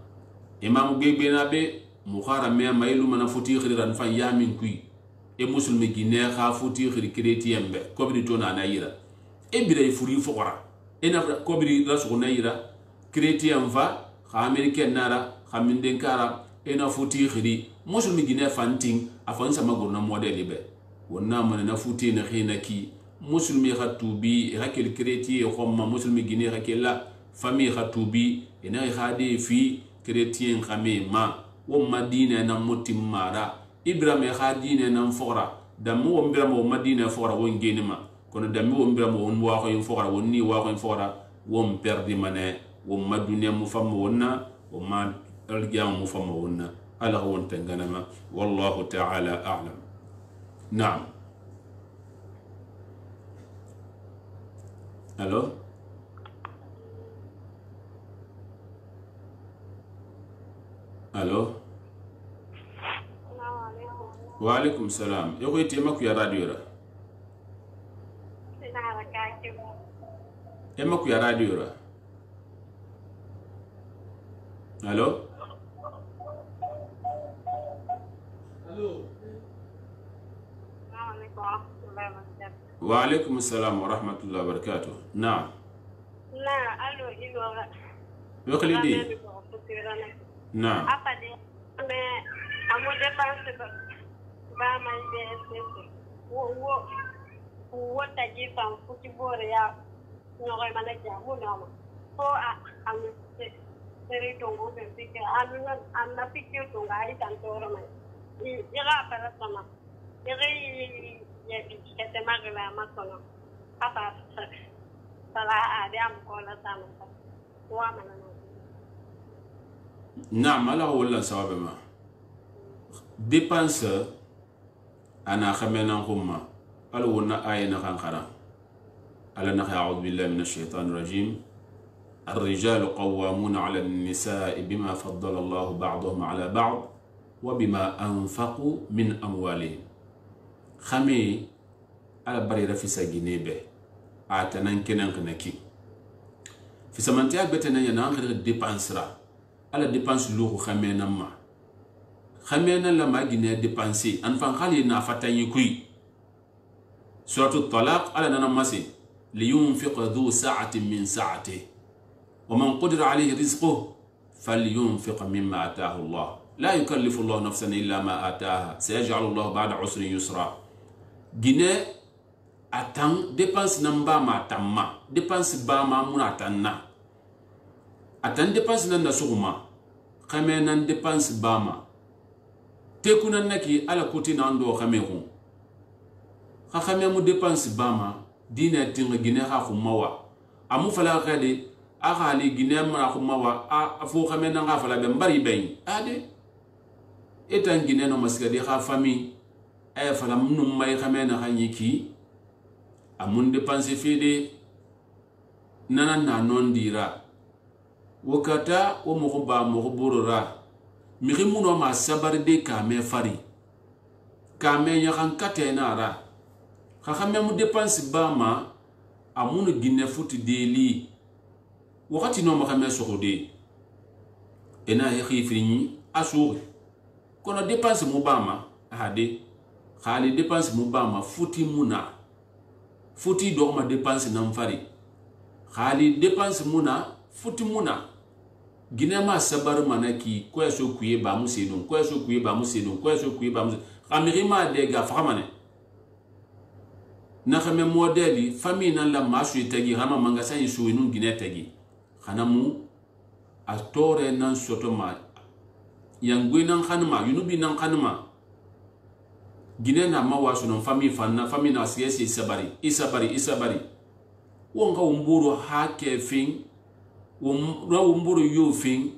imam gebe na be mukhara me mailu mana futi khiran fan yamin kui e muslimi gine kha futi khiri chrétien be kobri to na nayira e bire furi fokora e na kobri rasu nayira chrétien va kha américain nara kha minden kara e na futi khiri muslimi gine fanting afan sama gorna model be wonna man na futi na khina ki muslimi khatubi hakel chrétien khomma muslimi gine hakela famille khatubi ina khade fi chrétien khame ma wo madina na mutim mara ibrahim khadine na fora damu wo ibrahim wo madina fora wo ngene ma kono damu wo ibrahim wo wa ko fora wo ni wa ko fora wo perdi mane wo maduna mu fam wonna wo ma algiyam mu fam wonna ala won tanganama wallahu ta'ala a'lam na'am allo allo wa alaikum salam yako ite maku ya radio ra e maku ya radio ra allo allo wa alaikum salam wa rahmatullahi wa barakatuh na'am na allo ilo yako lidi na apa de me amo dépense ba ma be espèce wo wo wo ta ji fan futi bore ya no ga mana ja mo no ko a am se seri to go be ke anu na am na pikio to ga i tan to ro mai i ira para sama ira ye bi ke te ma ga ma kono apa sala a de am ko la sama wa mana نعم على ولا سبب ما dépense أنا خمنا هم قالوا لنا آية نخان خرا ألا نخ أعوذ بالله من الشيطان الرجيم الرجال قوامون على النساء بما فضل الله بعضهم على بعض وبما أنفقوا من أموالهم خمي على بريرة في سجنيبه أعتنان كنان كنكي في سمنتيا بتنا يناخر dépense را ala dépense lo khamena ma khamena la magine dépenser an fan khali na fatani kui suratu talaq ala nana masi liyunfiq dhu sa'atin min sa'atihi wa man qadira alayhi rizquhu falyunfiq mimma ataahu Allah la yukallifu Allah nafsan illa ma ataaha sayaj'alu Allah ba'da usrin yusra gine atan dépense namba ma tamma dépense ba ma muna tanna atan dépense nan na suguma khame nan dépense bama tekunan naki ala koti nan do khame ko kha khame mu dépense bama dina tinga gine ha khumawa amu fala khade aga ali gine ma khumawa a fo khame nan ga fala be mbari bay ade etan gine no maskade kha fami ay fala munum may khame na khanyiki amun dépense fede nanan na non dira wakata wo mo ba mo borora mi khimuno ma sabarde ka me fari ka me nya kan katena ra kha khame mu dépense ba ma amunu ginne futi deli wakati no ma khame sokhode ena ya khifrini asuri kono dépense mu ba ma hade khali dépense mu ba ma futi muna futi do ma dépense nam fari khali dépense muna futi muna gine ma sabar manaki ko so kuye ba musidun ko so kuye ba musidun ko so kuye ba musidun khamiri ma de ga famane na khame modeli fami nan la masu tagi hama manga sai su inun gine tagi khanamu a tore nan soto ma yangwe nan khanma yunubi nan khanma gine na ma wasu non fami fanna fami na siyasi sabari isabari isabari wonga umburu hake fin wum ra umburu yo fin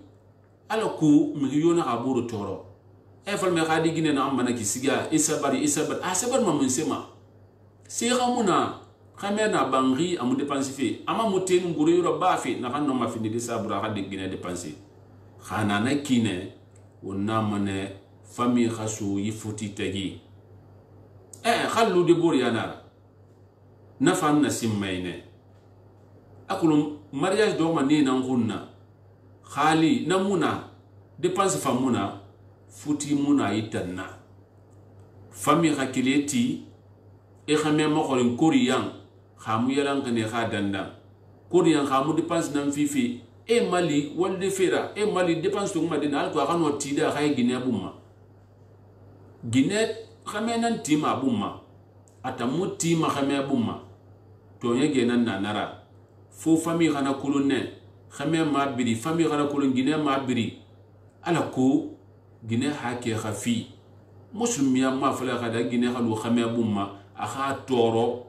ala ku mi yona aburu toro e fal me khadi gine na amana kisiga isabari isabari asabar ma mun sema sira muna khamena bangri amu dépense fi ama muten nguru yoro bafi na kan no ma fini de sabura khadi gine dépense khana na kine wonna mane fami khasu yifuti tagi eh khallu de bor yana nafam na simmayne akulum mariage do man ni nan gunna khali namuna dépense famuna futi muna yitanna fami khakileti e khame mo xorin koriyan khamu yalan kane kha danda koriyan khamu dépense nan fifi e mali walde fera e mali dépense to madina alko akano tida khay gine bumma gine khame nan tima bumma atamu tima khame bumma to yege nan nanara fo fami khana kulunne khame ma biri fami khana kulun gine ma biri ala ko gine hake khafi muslimiya ma fala khada gine khalu khame bumma akha toro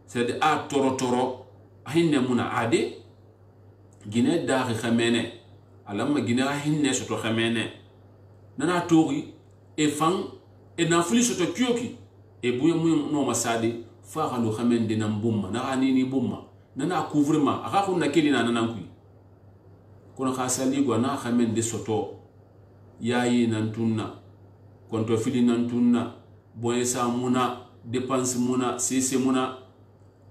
c'est a toro toro hinne muna ade gine daxi xamene alama gine a hinne soto xamene nana toxi e fan e nafuli soto kiyoki e buya mu no masadi fa xalu xamen dina bumma na anini bumma nana couvrement axa xunna kelina nanan kuy kono xa sali go na xamen de soto yayi nan tunna konto fili nan tunna boye sa muna dépense muna sese muna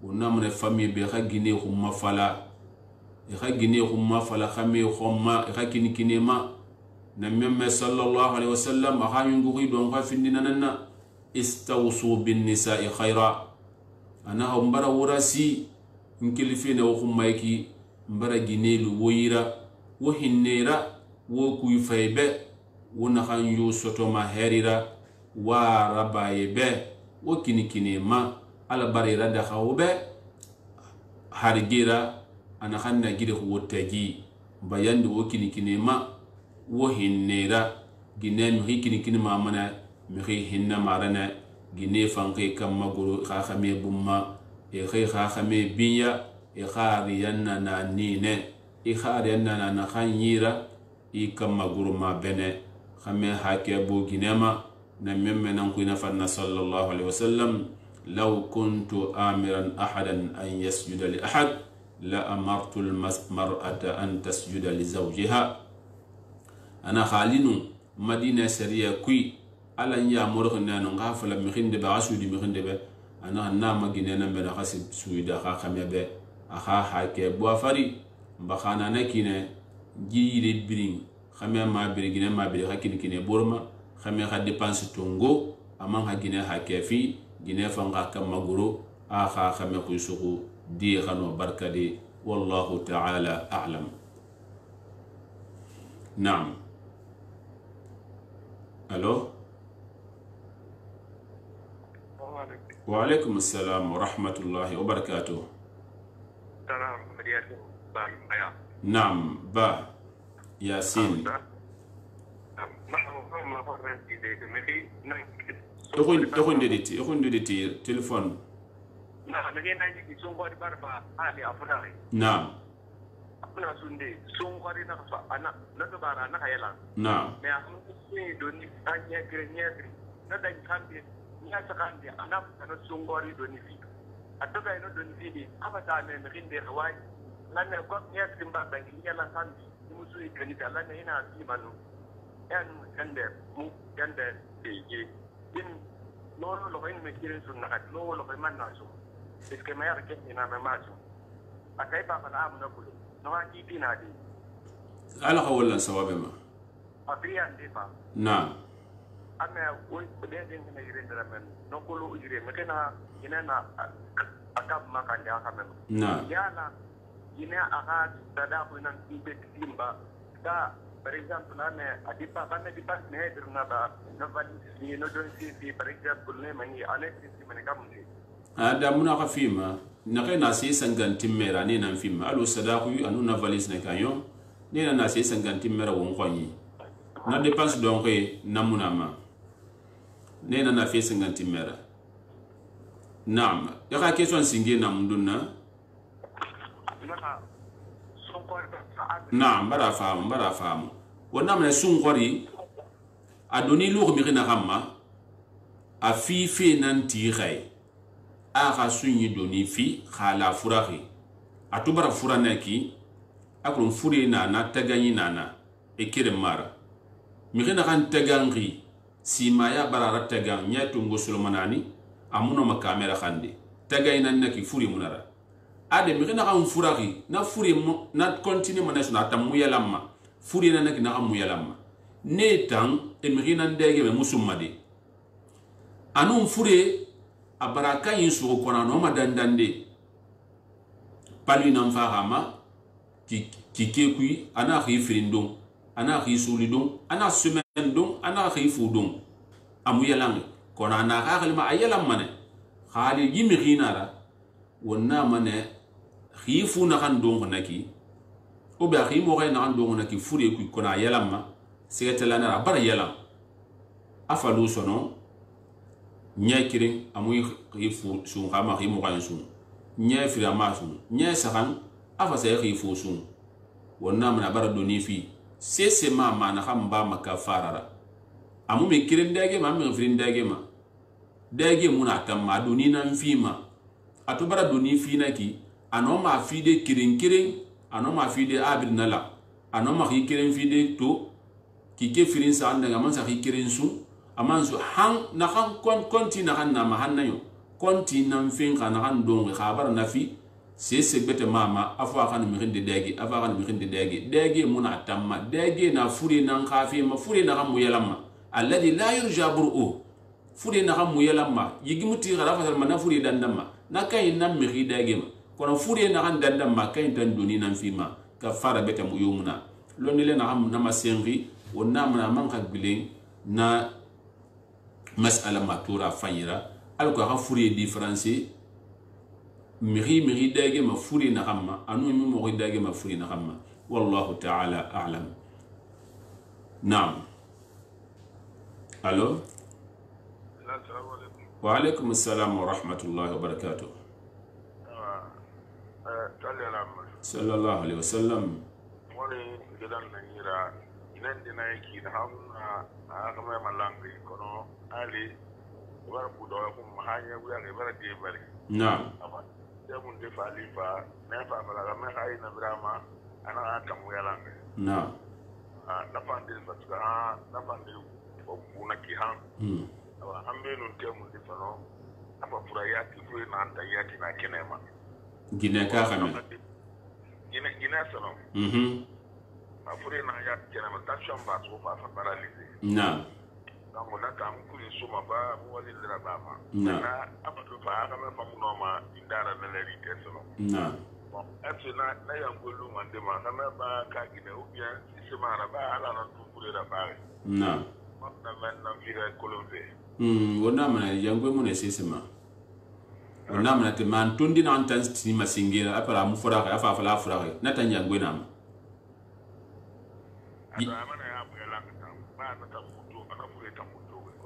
wonna mune famille be xa gine xumma fala ikha gine khumma fala khame khomma ikha kini kinema na memme sallallahu alaihi wasallam akha yungu don kha findina nanna istawsu bin nisa'i khaira ana mbara wurasi nkilifina wo khummayki mbara ginelu woyira wo hinnera wo kuy faybe wo na khan yu soto ma herira wa rabayebe wo kini kinema ala barira da khawbe hargira ana khanna gide ko tagi bayandi wo kini kinema wo hinnera ginen mi kini kinema mana mi hinna marana gine fanke kam maguru kha khame bumma e khay kha khame biya e khari yanna na nine e khari yanna na khanyira e kam maguru ma bene khame hake bo ginema na memme nan ku nafanna sallallahu alaihi wasallam law kuntu amiran ahadan an yasjuda li ahad لا أمرت المرأة أن تسجد لزوجها أنا خالين مدينة سرية كوي على أن يأمره أن نغافل مخند بعسود مخند به أنا نام جننا من خسب سويدا خا خميبة أخا حكي بوافري بخانا نكينة جيل برين خميا ما بري جنا ما بري خكين كينة بورما خميا خد ديبانس تونغو أمان خجنا حكي في جنا فنغا كم مغرو أخا خميا كيسوكو دي خنو بركة دي والله تعالى أعلم. نعم. ألو. وعليكم السلام ورحمة الله وبركاته. نعم با ياسين. تخون تخون ديتي تخون ديتي تلفون. Nah, bagaimana jika sungguh di barba ahli Afrika? Nah. Apa nak sundi? Sungguh di nak anak, nak kebaran nak hayalan. Nah. Nah, ini doni tanya kerja kerja. Nak dah kambil, ni asalkan dia anak anak sungguh di doni fi. Atau kalau ini doni fi, apa sahaja mungkin dia kawai. Lain kau ni asalkan bagi dia lah kambil. Musuh itu ni jalan ni nak si malu. Yang kande, mu kande tinggi. In loro lo ini mikirin sunat, loro lo mana sunat. Iske mayar ke ina me majo akai ba fa na na kulu no ha ki dina di ala hawlan sawabe ma abiyan di fa na ame wo de de ne yire ndara men no kulu yire me kana ina na akab ma kan ya ka men na ya na gine aga tada ko nan tibe timba da par exemple na ne adipa ba ne dipa ne dirna ba na valisi no don si fi par exemple ne mani ale si mani kamti ada muna ka fima na kai na sai sangantin mera ne nan fima alo sadaku anu na valis ne kanyo ne na sai sangantin mera won kwani na dépense donc na muna ma ne na na fi sangantin mera naam ya ka question singe na munduna naam bara faamu bara faamu wonna mena sun qori adoni lu mi rina gamma a fi fi nan ti khay a ga sunyi doni fi khala furahi atubara furana ki akrun furi na na tagani nana e kire mara mi rina kan tagangi sima ya barara tagan nyatu ngosolo manani amuno ma kamera khande tagay nan naki furi munara ade mi rina kan furahi na furi mo na continue mo national tamu yalamma furi na naki na amu yalamma ne tan e mi rina ndege me musumade anun fure abaraka yin su ko na no madandande palu nan fahama ki ki kekui ana khi frindon ana khi sulidon ana semaine don ana khi fudon amu yalangi kona na ka kalma ayalam mane khali yimi khinara wonna mane khifu na kan don naki o ba khi mo ga na kan don naki fure ku kona yalam ma sigatela na bar yalam afalu sono nyakirin amu khifu sun kama khi mo ga sun nya fira ma sun nya sakan afa sai khifu sun wonna mana bar doni fi sese ma ma na kan ba maka farara amu me kirin dage ma me firin dage ma dage muna tamma doni nan fi ma atubara doni fi naki ano ma fi de kirin kirin ano ma fi de abir nala ano ma ki kirin fi de to ki ke firin sa anda ga man sa ki kirin su aman su han na kan kon konti na kan na ma han nayo konti nan fin kan kan don khabar na fi sese bete mama afa kan mi hinde dage afa kan mi hinde dage dage muna tamma dage na furi nan khafi ma furi na kan mu yalamma alladhi la yurja bur'u furi na kan mu yalamma yigimuti gara fa na furi dandamma na kai nan mi hidage ma kono furi na kan dandamma kai tan doni nan fi ma ka fara bete mu yumuna lonile na ham na masengi wonna mana man ka bilen na mas'ala matura fayira alko ka furi différencier miri miri dage ma furi na hamma anu mi mo dage ma furi na hamma wallahu ta'ala a'lam naam allo wa alaykum assalam wa rahmatullahi wa barakatuh sallallahu alaihi wasallam wani gidan nan yira inan dina yake da hamna aka mai malangi kono ali bar budo ko mahanya buya ke bar de bari naam mun de falifa na fa mala ga me hay na brama ana aka mu yalan na ah na fa de fatga na fa de ko kuna ki han hmm awa ambe nun te mun de fano apa pura ya ki fu na anta ya ki na kenema gine ka xame gine gine sono mhm ma fure na ya kenema tension ba so fa fa paralyser na donc na kam ku suma ba mu wali dira ba ma na apa to fa ga me fa mu no ma indara na le rite sono na bon est na na ya ngolu man de ma na me ba ka gine ou bien si se mara ba ala na tu fure da ba na ma na men na vira kolombe hmm wona mana yangwe mo ne sesema wona mana te man tondi na antan sti masingira apara mu fura ka afa fala fura ka na tan yangwe na ma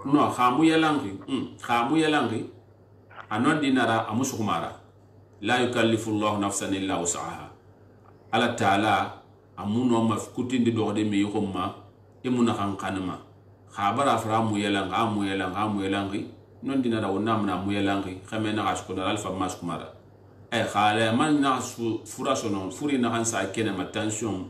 no khamu yalangi mm khamu yalangi anon dinara amusukumara la yukallifu Allah nafsan illa wus'aha ala taala amuno mafkutindi do de me yoma emuna kan kanama khabara framu yalanga amu yalanga amu yalangi non dinara wonna mna mu yalangi khamena ashkuna alfa maskumara e khala man na fura sonon furi na hansa kena ma tension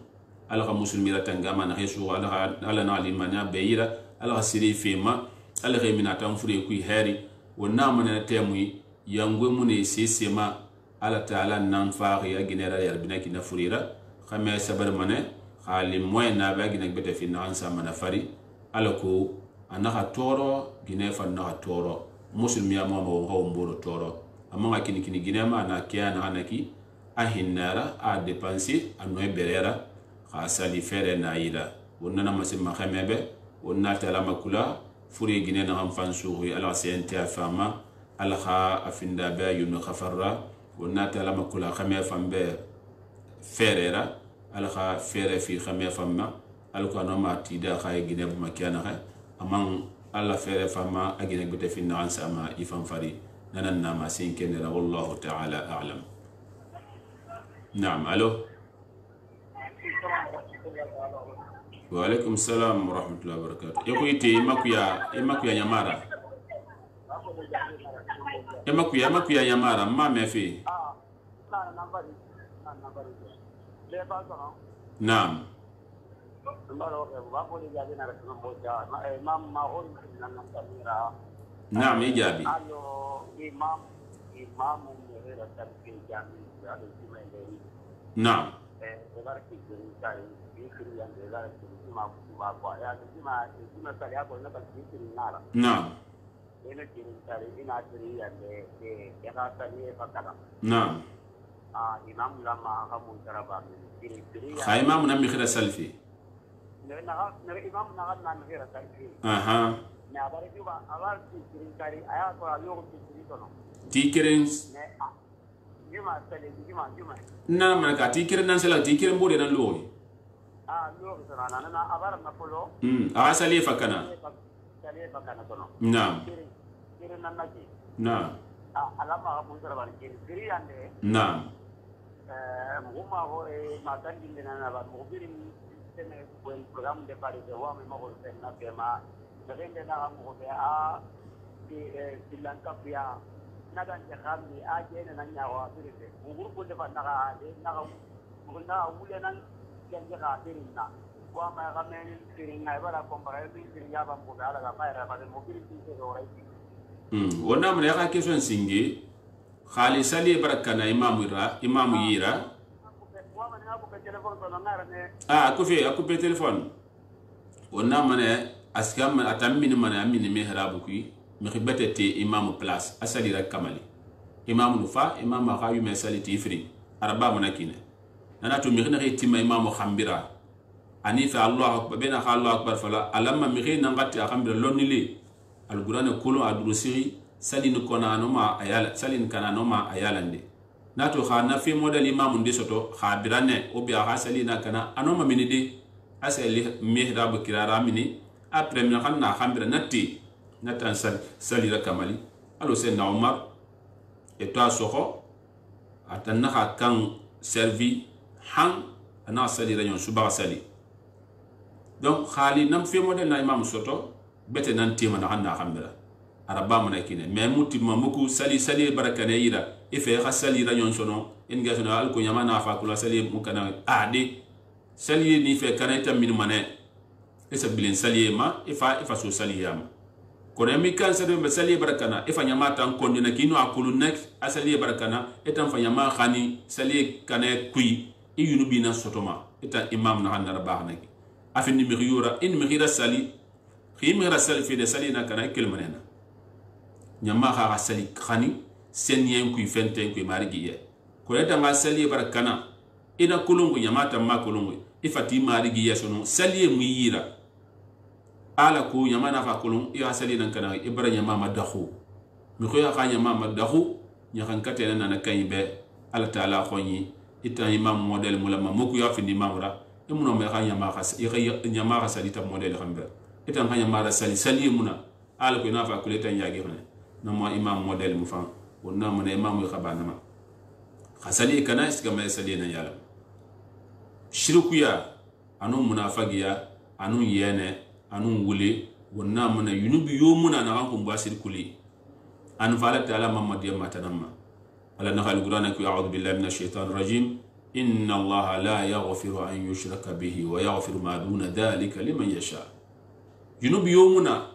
ala ka muslimira tangama na hesu ala ala na alimanya beira ala ka siri fema ala ka mina tan fure ku hari wonna mana temui yangwe mune sesema ala taala nan faari ya ginera ya binaki na furira khame sabar mane khali moy na ba gina bete fi nan sa mana fari ala ko anaka toro gine fa na toro muslimi ya mo mo ho mboro toro amanga kini kini gine ma na kiya na anaki a hinnara a dépenser a noy berera kha sali fere na yida wonna ma simma khamebe wonna tala makula furi gine na hamfan suuri ala sente afama ala kha afinda ba yunu khafarra wonna tala makula khame fambe ferera ala kha fere fi khame famma al ko no ma tida khay gine bu makiana kha amang alla fere fama agine gute fi nan sama ifan fari nanan nama sin kenera wallahu ta'ala a'lam. Naam, alo. Wa alaikum salam wa rahmatullahi wa barakatuh. Yako ite imakuya imakuya nyamara. Imakuya imakuya nyamara ma mefi. Naam. Naam, ijabi. Naam. Naam. Naam. Kha imam na mikhira salfi. Aha. Tikirin na man ka tikirin nan sala tikirin bode nan loyi ah loyi sana na na abara na polo mm a sali fakana sali fakana tono naam tikirin nan naji naam ah alama ka mun sara ban kiri ande naam eh muma hore ma tan din na ba mo birin tene buen program de pare de wa me mo ko na tema de na mo be a di Lanka pia nagan jahamni aje na nyawa birite nguru ko defa naga de naga nguna wule nan jenge ga dirinna wa ma ga men dirinna bara ko bara bi dirinna ba mo ala ga bayra ba mo birite se do rai hmm wona mun ya ka question singi khali sali barakana imam ira imam yira wa ma na ko be telefon to na ne ah ko fe ko be telefon wona mun askam atammin man amini mihrabu ki mkhibete te imam place asali ra kamali imam nufa imam ma yu mesali tifri araba monakine nana to mi khina tima imam khambira ani fa allah akbar bena allah akbar fala alamma mi khina ngati khambira lonili alquran kulo adrusi salin kona no ma ayala salin kana no ma ayalande nato khana fi model imam ndi soto khabirane o bi ha salina kana anoma minidi asali mihrab kirara mini après mi khana khambira natti natan sal salira kamali alo sen na Omar et toi soho atanna kan servi han ana salira yon suba sali donc khali nam fi model na imam soto bete nan tema na hanna khambira araba mana kine mais muti mamuku sali sali barakane ira ife kha salira yon sono en ga sono al ko nyama na fa kula sali mukana ade sali ni fe kanata min mane esa bilen sali ma ifa ifa so sali yama kono mi kan sa be sali barakana e fa nyama tan ko ni kino akulu nek asali barakana etan fa nyama khani sali kane kui e yunu bina sotoma etan imam na hanna rabah nak afin mi khiyura in mi khira sali khim mi sali fi de sali na kana kel manena nyama kha sali khani sen yen kui fenten kui marigi ye ko etan ga sali barakana ina kulungu nyama tan ma kulungu ifati marigi ye sono sali mu yira ala ko nyama na fa kulun ya sali nan kana ibra nyama madahu mi khoya ka nyama madahu nya kan katena na kan be ala taala khoni itan imam model mulama moku ya fi imam ra imuno me ka nyama ka ya nyama ka sali ta model khambe itan ka nyama ra sali sali muna ala ko na fa kuleta nyagi khone na mo imam model mu fa wonna mo ne imam ka bana ma khasali kana iska ma sali na yala shirku ya anu munafagiya anu yene anu wule wonna mana yunubi yomuna na kan kumba sirkuli an fala ta'ala mamad ya matanamma ala nahal qur'ana ku a'udhu billahi minash shaitanir rajim inna allaha la yaghfiru an yushraka bihi wa yaghfiru ma duna dhalika liman yasha yunubi yomuna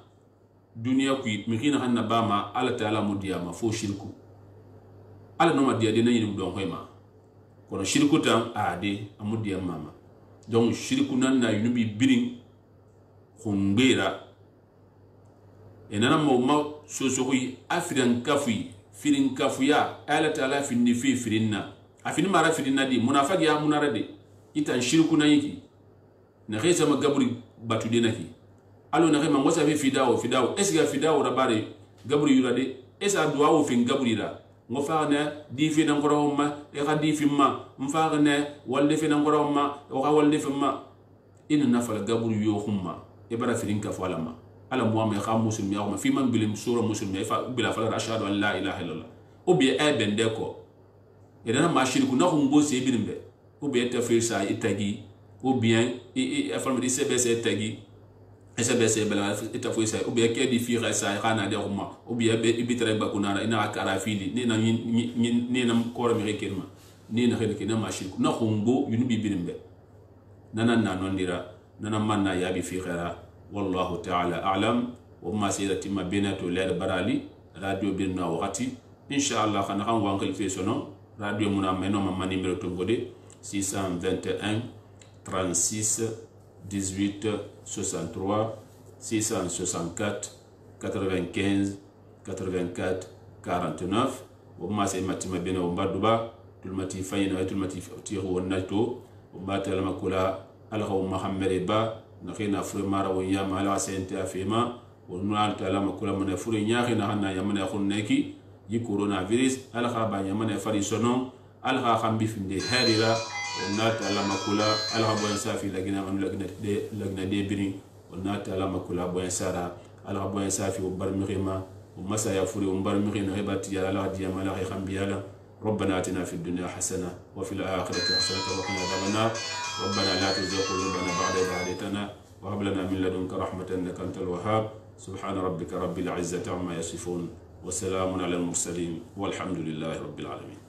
dunya ku mikina hanna bama ala ta'ala mudiya ma fo shirku ala no madiya de nayi don hoyma kono shirku tan ade amudiya mama donc shirku nan na yunubi birin khumbira enana mo ma so so hui afrian kafui firin kafuya ala taala finni fi firinna afini mara fini nadi munafaq ya munara de itan shirku na yiki na xey sama gaburi batu de naki alo na xey man wasa fi fidao fidao esga fidao rabare gaburi yura de esa duwa wo fin gaburi la ngo faana di fi nan goro ma e ga di fi ma mfaana walde fi nan goro ma o ga walde fi ma ina nafala gaburi yo khumma e bara firin ka fala ma ala muhammad kha muslim ya ma fi man bilim sura muslim ya fa bila fala ashhadu an la ilaha illallah o bi e bende ko e dana ma shirku na khum bo se bilimbe o bi ta fi sa itagi ou bien e falma di cbc tagi cbc bela ita fo sa ou bien ke di fi sa khana de khumma ou bien be bitre ba kunana ina kara fili ni na ni na ko mi rekelma ni na khede na ma shirku na khumbo yunu bi bilimbe nana na nondira nana manna ya bi fi khaira wallahu ta'ala a'lam wa ma sayyidati ma binatu lad barali radio birna waqti inshallah khana kan wankal fi sono radio muna meno ma numéro to gode six cent vingt et un trente-six dix-huit soixante-trois six cent soixante-quatre quatre-vingt-quinze quatre-vingt-quatre quarante-neuf wa ma sayyidati ma bina wa duba tulmati fayna tulmati tiru wonnato wa ta lama kula alghaw muhammad ba nakhina furmara wa yama ala sente afima wa nal ta lama kula mana fure nyakhina hanna yamana khunneki yi coronavirus algha ba yamana fari sono algha khambi finde harira wa nal ta lama kula algha bo safi lagina man lagina de lagina de bini wa nal ta lama kula bo sara algha bo safi wa barmihima wa masaya fure wa barmihina hebati ya ala diyama ala khambi ala ربنا آتنا في الدنيا حسنة وفي الآخرة حسنة وقنا عذاب النار ربنا لا تزغ قلوبنا بعد إذ هديتنا وهب لنا من لدنك رحمة إنك أنت الوهاب سبحان ربك رب العزة عما يصفون وسلام على المرسلين والحمد لله رب العالمين